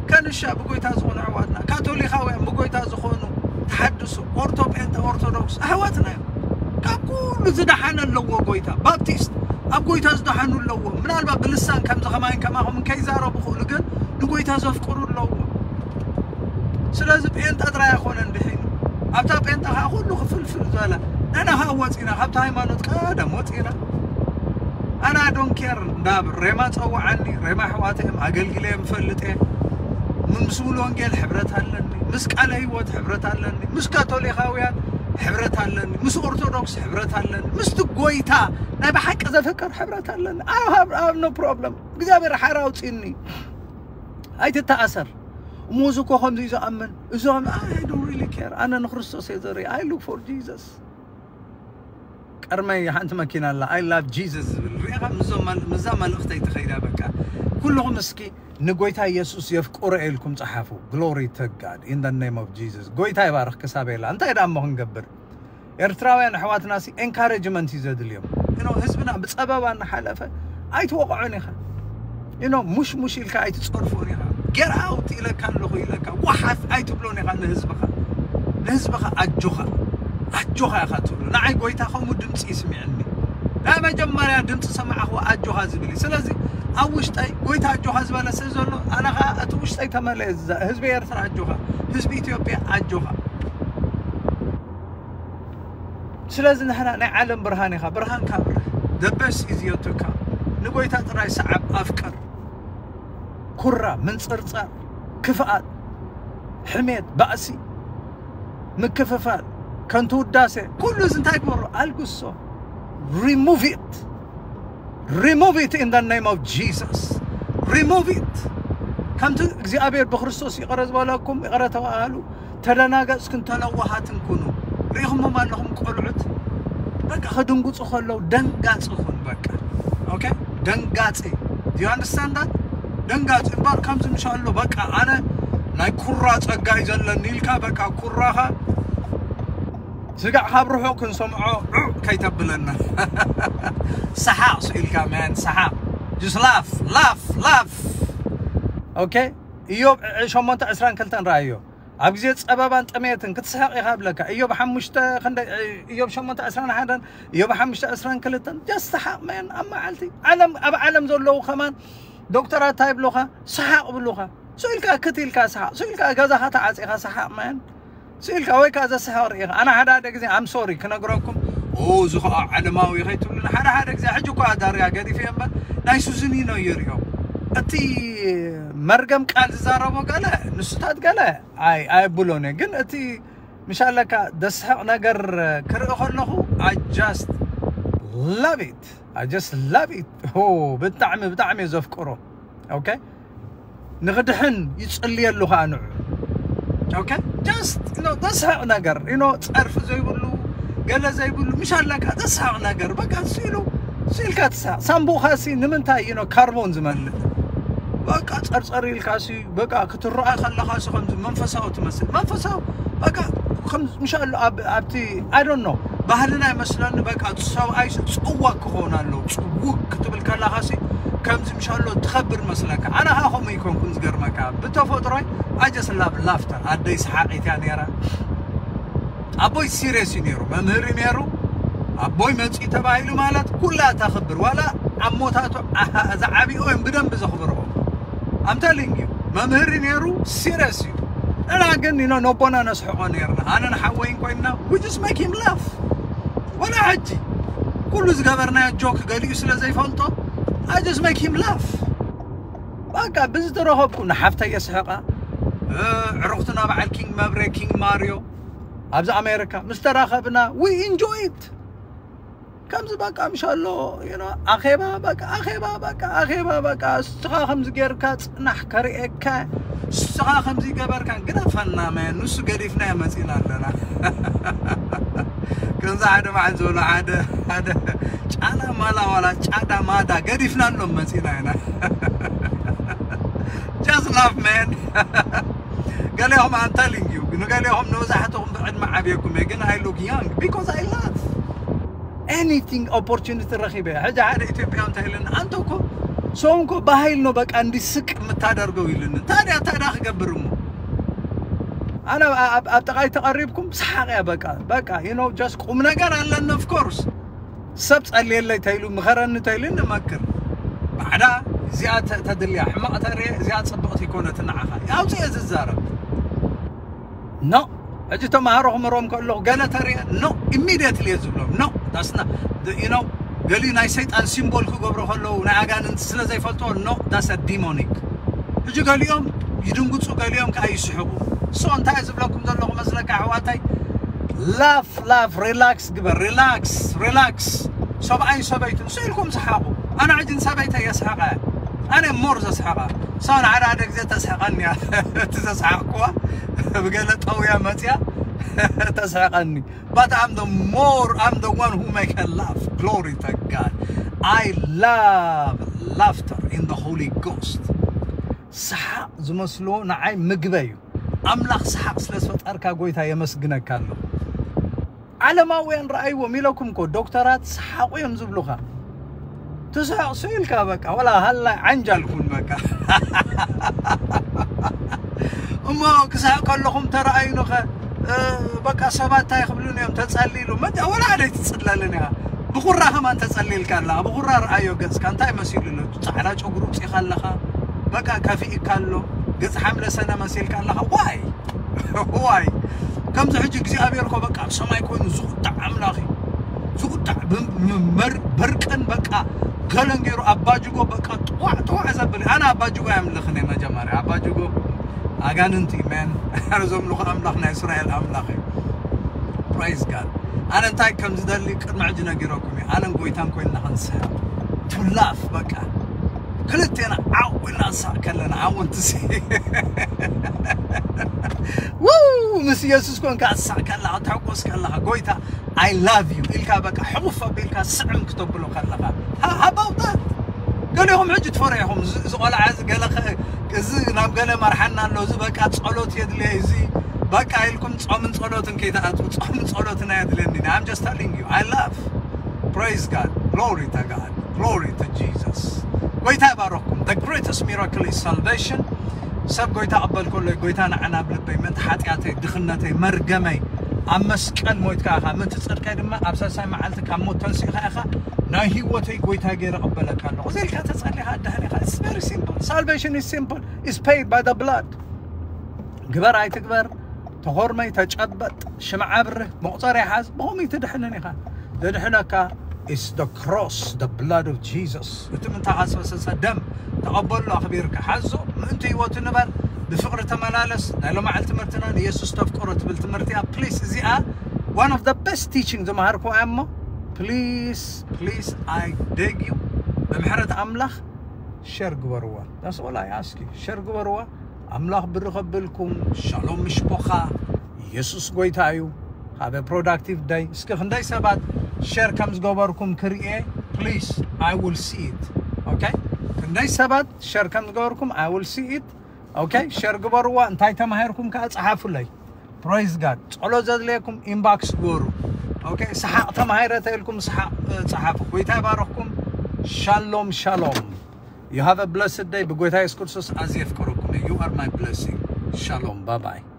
ከንሻ ብጎይታ ዝኾኑ ኣሕዋትና ካቶሊካውያን ብጎይታ ዝኾኑ ተሓድሶ ኦርቶ ጴንጠ ኦርቶዶክስ ኣሕዋትና እዮም። ካብ ኩሉ ዝደሓነ ኣለዎ ጎይታ። ባፕቲስት ኣብ ጎይታ ዝደሓኑ ኣለዎ። ምናልባት ብልሳን ከምዚ ከማይን ከማኹም ከይዛረቡ ክእሉ ግን ንጎይታ ዘፍቅሩ ኣለዎ። ስለዚ ጴንጠ ጥራይ ኣይኮነን ድሒኑ ኣብታ ጴንጠ ከዓ ኩሉ ክፍልፍል ዝበለ ንሕና ከዓ ወፂና ካብቲ ሃይማኖት ቀደም ወፂና ኣና ዶንኬር እንዳብ ሬማ ፀውዓኒ ሬማ ኣሕዋተ እዮም ኣገልግለ እዮም ፈልጥ እየ ምስ ሙሉ ወንጌል ሕብረት ኣለኒ ምስ ቃለ ህይወት ሕብረት ኣለኒ ምስ ካቶሊካውያን ሕብረት ኣለኒ ምስ ኦርቶዶክስ ሕብረት ኣለኒ ምስቲ ጎይታ ናይ ብሓቂ ዘፍቅር ሕብረት ኣለኒ I have no problem እግዚኣብሔር ሓራ ኣውፅኒ ኣይትተኣሰር እሞ እዚ እኮ ከምዚ እዩ ዝኣምን እዞም I don't really care ኣነ ንክርስቶስ እየ ዘርኢ I look for Jesus ቀርመይ ሓንቲ መኪና ኣላ I love Jesus ዝብል ሪኢኻ ምዛ መልእኽተይ ትኸይዳ በቃ ኩልኹም እስኪ ንጎይታ ኢየሱስ የፍቅሮ ኢልኩም ጸሓፉ glory to God in the name of Jesus ጎይታ ይባርኽ ክሳብ የላ እንታይ ደኣ እሞ ክንገብር ኤርትራውያን ኣሕዋትና ሲ encouragement እዩ ዘድልዮም you know ህዝብና ብጸበባ እናሓለፈ ኣይትወቕዖን ኢኻ you know ሙሽሙሽ ኢልካ ኣይትጸርፎን ኢኻ get out ኢለካ ኣለኹ ኢለካ ወሓፍ ኣይትብሎን ኢኻ ንህዝብኻ ንህዝብኻ ኣጆኻ ኣጆኻ ኢኻ ትብሎ ንዓይ ጎይታ ከምኡ ድምፂ ይስምዐኒ ናይ መጀመርያ ድምፂ ሰማዕኽዎ ኣጆኻ ዝብል እዩ ስለዚ ኣብ ውሽጠይ ጎይታ ኣጆኻ ዝበለ ስለ ዘሎ ኣነ ኸዓ እቲ ውሽጠይ ተመለየ ህዝቢ ኤርትራ ኣጆኻ ህዝቢ ኢትዮጵያ ኣጆኻ ስለዚ ንሕና ናይ ዓለም ብርሃን ኢኻ፣ ብርሃንካ ኣብርህ። The best is yet to come። ንጎይታ ጥራይ ሰዓብ፣ ኣፍቅር። ኩራ፣ ምንጽርጻር፣ ክፍኣት፣ ሕሜት፣ ባእሲ፣ ምክፍፋል፣ ከንቱ ውዳሴ፣ ኩሉ እዚ እንታይ ግበሮ? ኣልግሶ። Remove it. Remove it in the name of Jesus. Remove it. ከምቲ እግዚኣብሔር ብክርስቶስ ይቕረ ዝበለኩም ይቕረ ተባሃሉ። ተደናገጽክን ተለዋሃትን ኩኑ። ርኢኹሞም ኣለኹም ቆልዑት በቃ ክድንጉጹ ከለዉ ደንጋጺ ኩን በቃ። Okay? ደንጋጺ። Do you understand that? ደንጋጺ እምበር ከምዚ ምሻሎ በቃ ኣነ ናይ ኩራ ጸጋ እዩ ዘለኒ ኢልካ በቃ ኩራኻ ስጋዕ ካብ ርሑቕ ክንሰምዖ ዑዕ ከይተብለና። ሰሓቕ ስኢልካ man ሰሓቕ። Just laugh, laugh, laugh. Okay? ኢዮብ ሸሞንተ ዕስራን ክልተን ረኣዮ። ኣብ ግዜ ጸበባን ጥሜትን ክትስሕቕ ኢኻ ብለካ። ኢዮብ ሓሙሽተ ክንደይ፣ ኢዮብ ሸሞንተ ዕስራን ሓደን፣ ኢዮብ ሓሙሽተ ዕስራን ክልተን። Just ሰሓቕ man ኣብ መዓልቲ። ዓለም፣ ኣብ ዓለም ዘለዉ ከማን ዶክተራት እንታይ ይብሉኻ? ሰሓቕ ይብሉኻ። ስኢልካ ክት ኢልካ ሰሓቕ። ስኢልካ ገዛኻ ተዓጺኻ ሰሓቕ man። ስኢልካ ወይ ከኣ ዘስሕቕ ርኢኻ። ኣነ ሓደ ሓደ ግዜ I'm sorry ክነግረኩም። ኦ፣ እዚ ኸኣ ዓለማዊ ከይትብሉኒ። ሓደ ሓደ ግዜ ሕጂ እኳ ዳርያ ገዲፈ እምበር ናይ ሱዚኒኖ እየ ርእዮ። እቲ መርገም ቃል ዝዛረቦ ገለ፣ ንሱታት ገለ ኣይ-፣ ኣየብሎን እየ። ግን እቲ ምሻለካ ደስሕቕ ነገር ክርኢ ከለኹ I just love it. I just love it. ኦ፣ ብጣዕሚ፣ ብጣዕሚ እየ ዘፍቅሮ። Okay? ንኽድሕን ይጽልየሉ ኸኣ ንዑ። Okay? Just, you know፣ ዘስሕቕ ነገር፣ you know፣ ጸርፊ ዘይብሉ፣ ገለ ዘይብሉ፣ ምሻለካ ዘስሕቕ ነገር፣ በቃ እሱ ኢሉ፣ እሱ ኢልካ ትስሕቕ። ሳምቡእኻሲ ንምንታይ፣ you know፣ ካርቦን ዝመልእ? በቃ ጸርጸር ኢልካሲ፣ በቃ ክትረኣ ከለኻሲ ከምዚ መንፈሳዊ ትመስል። መንፈሳዊ፣ በቃ ከም ምሻሎ ኣብ-፣ ኣብቲ፣ I don't know፣ ባህልና ይመስለኒ፣ በቃ ሰብኣይሲ ጽዋግ ክኸውን ኣለዎ። ጽውግ ክትብል ከለኻሲ ከምዚ ምሻሎ ትኸብር መስለካ። ኣነ ኸኣ ከምኡ ኣይኮንኩን ዝገርመካ። ብተፈጥሮይ I just love laughter። ኣደይ ሰሓቒት እያ ነይራ። ኣቦይ ሲሪየስ እዩ ነይሩ፣ መምህር እዩ ነይሩ። ኣቦይ መጺኡ ተባሂሉ ማለት ኩላ ተኽብር፣ ዋላ ኣሞታቱ ዓሃ-፣ ዝዓብኡ እዮም ብደንቢ ዘኽብርዎ። I'm telling you፣ መምህር እዩ ነይሩ፣ ሲሪየስ እዩ። ንሕና ግን፣ you know፣ ነቦና ነስሕቖ ነይርና። ኣነን ሓወይን ኮይንና፣ we just make him laugh። ወላ ሕጂ፣ ኩሉ ዝገበርናዮ ጆክ ገሊኡ ስለ ዘይፈልጦ፣ I just make him laugh። በቃ፣ ብዝተረኸብኩ ንሓፍተይ የስሕቓ፣ እ፣ ዕሩኽትና በዓል ኪንግ መብሬ፣ ኪንግ ማርዮ፣ ኣብዚ ኣሜሪካ ምስ ተራኸብና፣ we enjoy it። ከምዚ በቃ ምሻሎ፣ you know፣ ኣኼባ በቃ፣ ኣኼባ በቃ፣ ኣኼባ በቃ፣ እስኻ ከምዚ ጌርካ ጽናሕ ከርእየካ፣ እስኻ ከምዚ ገበርካ፣ ግደፈና መን፣ ንሱ ገዲፍናዮ መጺና ኣለና። ከምዚ ሓደ መዓት ዝበሎ ሓደ፣ ሓደ ጫላ ማላ ዋላ ጫዳ ማዳ ገዲፍናሎም መጺና ኢና። Just laugh man። ገሌኹም I'm telling you፣ ንገሌኹም ንብዛሕትኹም ብዕድመ ዓብየኩም እየ፣ ግን I look young because I laugh። Anything opportunity ረኺበ። ሕጂ ሓደ ኢትዮጵያ እንታይ ኢለኒ፣ ኣንተ እኮ ሰው እኮ በኃይል ነው በቃ እንዲስቅ የምታደርገው ኢልኒ። ታዲያ፣ ታዲያ ክገብር እሞ ኣነ ኣብ፣ ኣብ፣ ኣብ ጥቓይ ተቐሪብኩም ሰሓቕ እያ በቃ። በቃ፣ you know፣ just ቁም ነገር ኣለኒ of course። ሰብ ጸልየለይ ተይሉ፣ ምኸረኒ ተይሉ ንመክር። ባዕዳ እዚኣ ተ-፣ ተድልያ፣ ሕማቕ ተርእየ፣ እዚኣ ጽብቕቲ ይኮነት ንዓኻ። ኣውጽኤ ዝዛረብ። ኖ፣ ሕጂ ተማሃሮ ክምህሮም ከለኹ ገለ ተርእየ፣ ኖ፣ ኢሚድየትሊ እየ ዝብሎም። ኖ፣ that's not፣ you know፣ ገሊኡ ናይ ሰይጣን ሲምቦል ክገብሩ ከለዉ፣ ናይ ኣጋንንቲ ስለ ዘይፈልጥዎ፣ ኖ፣ that's a demonic። ሕጂ ገሊኦም ይድንግጹ፣ ገሊኦም ከኣ ይስሕቑ። So እንታይ እየ ዝብለኩም ዘለኹ መስለካ ኣሕዋተይ? ላፍ፣ ላፍ፣ ሪላክስ ግበር፣ ሪላክስ፣ ሪላክስ። ሰብኣይን ሰበይትን ስኢልኩም ሰሓቑ። ኣነ ሕጂ ንሰበይተይ የስሕቐ። ኣነ ሞር ዘስሕቐ። So ንሓደ ሓደ ግዜ ተስሕቐኒ እያ። እቲ ዘስሓቕኩዋ ብገለ ጠውያ መጽያ ተስሕቐኒ። But I'm the more, I'm the one who make her laugh. Glory to God. I love laughter in the Holy Ghost. ሰሓቕ ዝመስልዎ ንዓይ ምግበ እዩ። ኣምላኽ ሰሓቕ ስለ ዝፈጠርካ ጎይታ የመስግነካ ኣለኹ። ዓለማውያን ረኣይዎም ኢለኩም እኮ ዶክተራት ሰሓቑ እዮም ዝብሉኻ። ትስሕቕ ስኢልካ በቃ፣ ወላ ሃላይ ዓንጃል ኩን በቃ። እሞ ክስሕቕ ከለኹም ተረኣዩንኸ፣ እ፣ በቃ ሰባት እንታይ ክብሉን እዮም ተጸሊሉ። መጃ ወላ ሓደ ኣይትጽለልን ኢኻ። ብኹራ ከማን ተጸሊልካ ኣለኻ። ብኹራ ረኣዮ ገጽካ እንታይ መሲሉ ኣሎ? ጻዕዳ ጨጉሪ ውጺኻ ኣለኻ። በቃ ከፊእካ ኣሎ። ገጽ ሓምለ ሰነ መሲልካ ኣለኻ። ዋይ? ዋይ? ከምዚ ሕጂ እግዚኣብሔር እኮ በቃ ኣብ ሰማይ ኮይኑ ዝቑጣዕ ኣምላኽ እዩ። ዝቁጣዕ ብርቅን በቃ ገለን ገይሩ ኣባጅጎ በቃ ጥዋዕ ጥዋዕ ዘብል። ኣነ ኣባጅጎ ኣምልኽን መጀመርያ ኣባጅጎ ኣጋንንቲ መን ኣረ ዘምልኹ ኣምላኽ ናይ እስራኤል ኣምላኽ እዩ። Praise God። ኣነ እንታይ ከም ዝደሊ ቅድሚ ሕጂ ነጊረኩም እዩ። ኣነን ጎይታን ኮይንና ክንስሕብ to laugh በቃ ክልቴና ዓው ኢልና ንሳቕ ከለና ኣወንትሲ ምስ ኢየሱስ ኮንካ ትሳቕ ከለኻ ትሕጎስ ከለኻ ጎይታ I love you ኢልካ በቃ ሕቑፍ ኣቢልካ ስዕም ክተብሎ ከለኻ how about that? ገሊኹም ሕጂ ትፈርሑ ኢኹም። እዚ ቆልዓ እዚ ገለ እዚ ናብ ገለ መርሓና ኣሎ፣ እዚ በቃ ጸሎት የድልየ፣ እዚ በቃ ኢልኩም ጾምን ጸሎትን ከይትኣትዉ። ጾምን ጸሎትን ኣየድልየኒ። I'm just telling you I love. Praise God. Glory to God. Glory to Jesus. ጎይታ ይባረኽኩም። The greatest miracle is salvation. ሰብ ጎይታ ቅበል ከሎ ጎይታ ንዓና ኣብ ልበይ ምእንቲ ሓጢኣተይ ድኽነተይ መርገመይ ኣብ መስቀል ሞይትካ ኢኻ ምእንቲ ጽድቀይ ድማ ኣብ ሳልሳይ መዓልቲ ካብ ሞት ተንሲእኻ ኢኻ ናይ ህይወተይ ጎይታ ገይረ ቅበለካ ኣለኹ እዚ ኢልካ ተጸሊኻ ኣዳህን ኢኻ። It's very simple. Salvation is simple. It's paid by the blood. ግበር ኣይትግበር ተኾርመይ ተጨበጥ ሽምዓ ኣብርህ መቑጸር ይሓዝ ብኸምኡ ትድሕንን ኢኻ። ዘድሕነካ is the cross, the blood of Jesus. እቲ ምንታኻ ዝፈሰሰ ደም ተቐበሎ ኣኽቢርካ ሓዞ ምእንቲ ህይወቱ ንበር ብፍቕሪ ተመላለስ። ናይ ሎማዓል ትምህርትና ንየሱስ ተፍቅሮ ትብል ትምህርቲ እያ። Please እዚኣ one of the best teaching ዝመሃርኩ እያ እሞ please please I beg you ብምሕረት ኣምላኽ share ግበርዋ። That's all I ask you. Share ግበርዋ። ኣምላኽ ብርኸብልኩም። ሻሎም ምሽፖኻ። ኢየሱስ ጎይታ እዩ። Have a productive day. እስኪ ክንደይ ሰባት share ከም ዝገበርኩም ክርእየ please I will see it. Okay? ክንደይ ሰባት share ከም ዝገበርኩም I will see it. Okay? Share ግበርዋ። እንታይ ተማሂርኩም ከኣ ጸሓፉለይ። Praise God. ጸሎት ዘድልየኩም inbox ግበሩ። Okay? ሰሓቕ ተማሂረ ተኢልኩም ሰሓቕ ጸሓፉ። ጎይታ ይባረኽኩም። ሻሎም ሻሎም። You have a blessed day. ብጎይታ ኢየሱስ ክርስቶስ ኣዝየ የፍቅረኩም። You are my blessing. Shalom. Bye bye.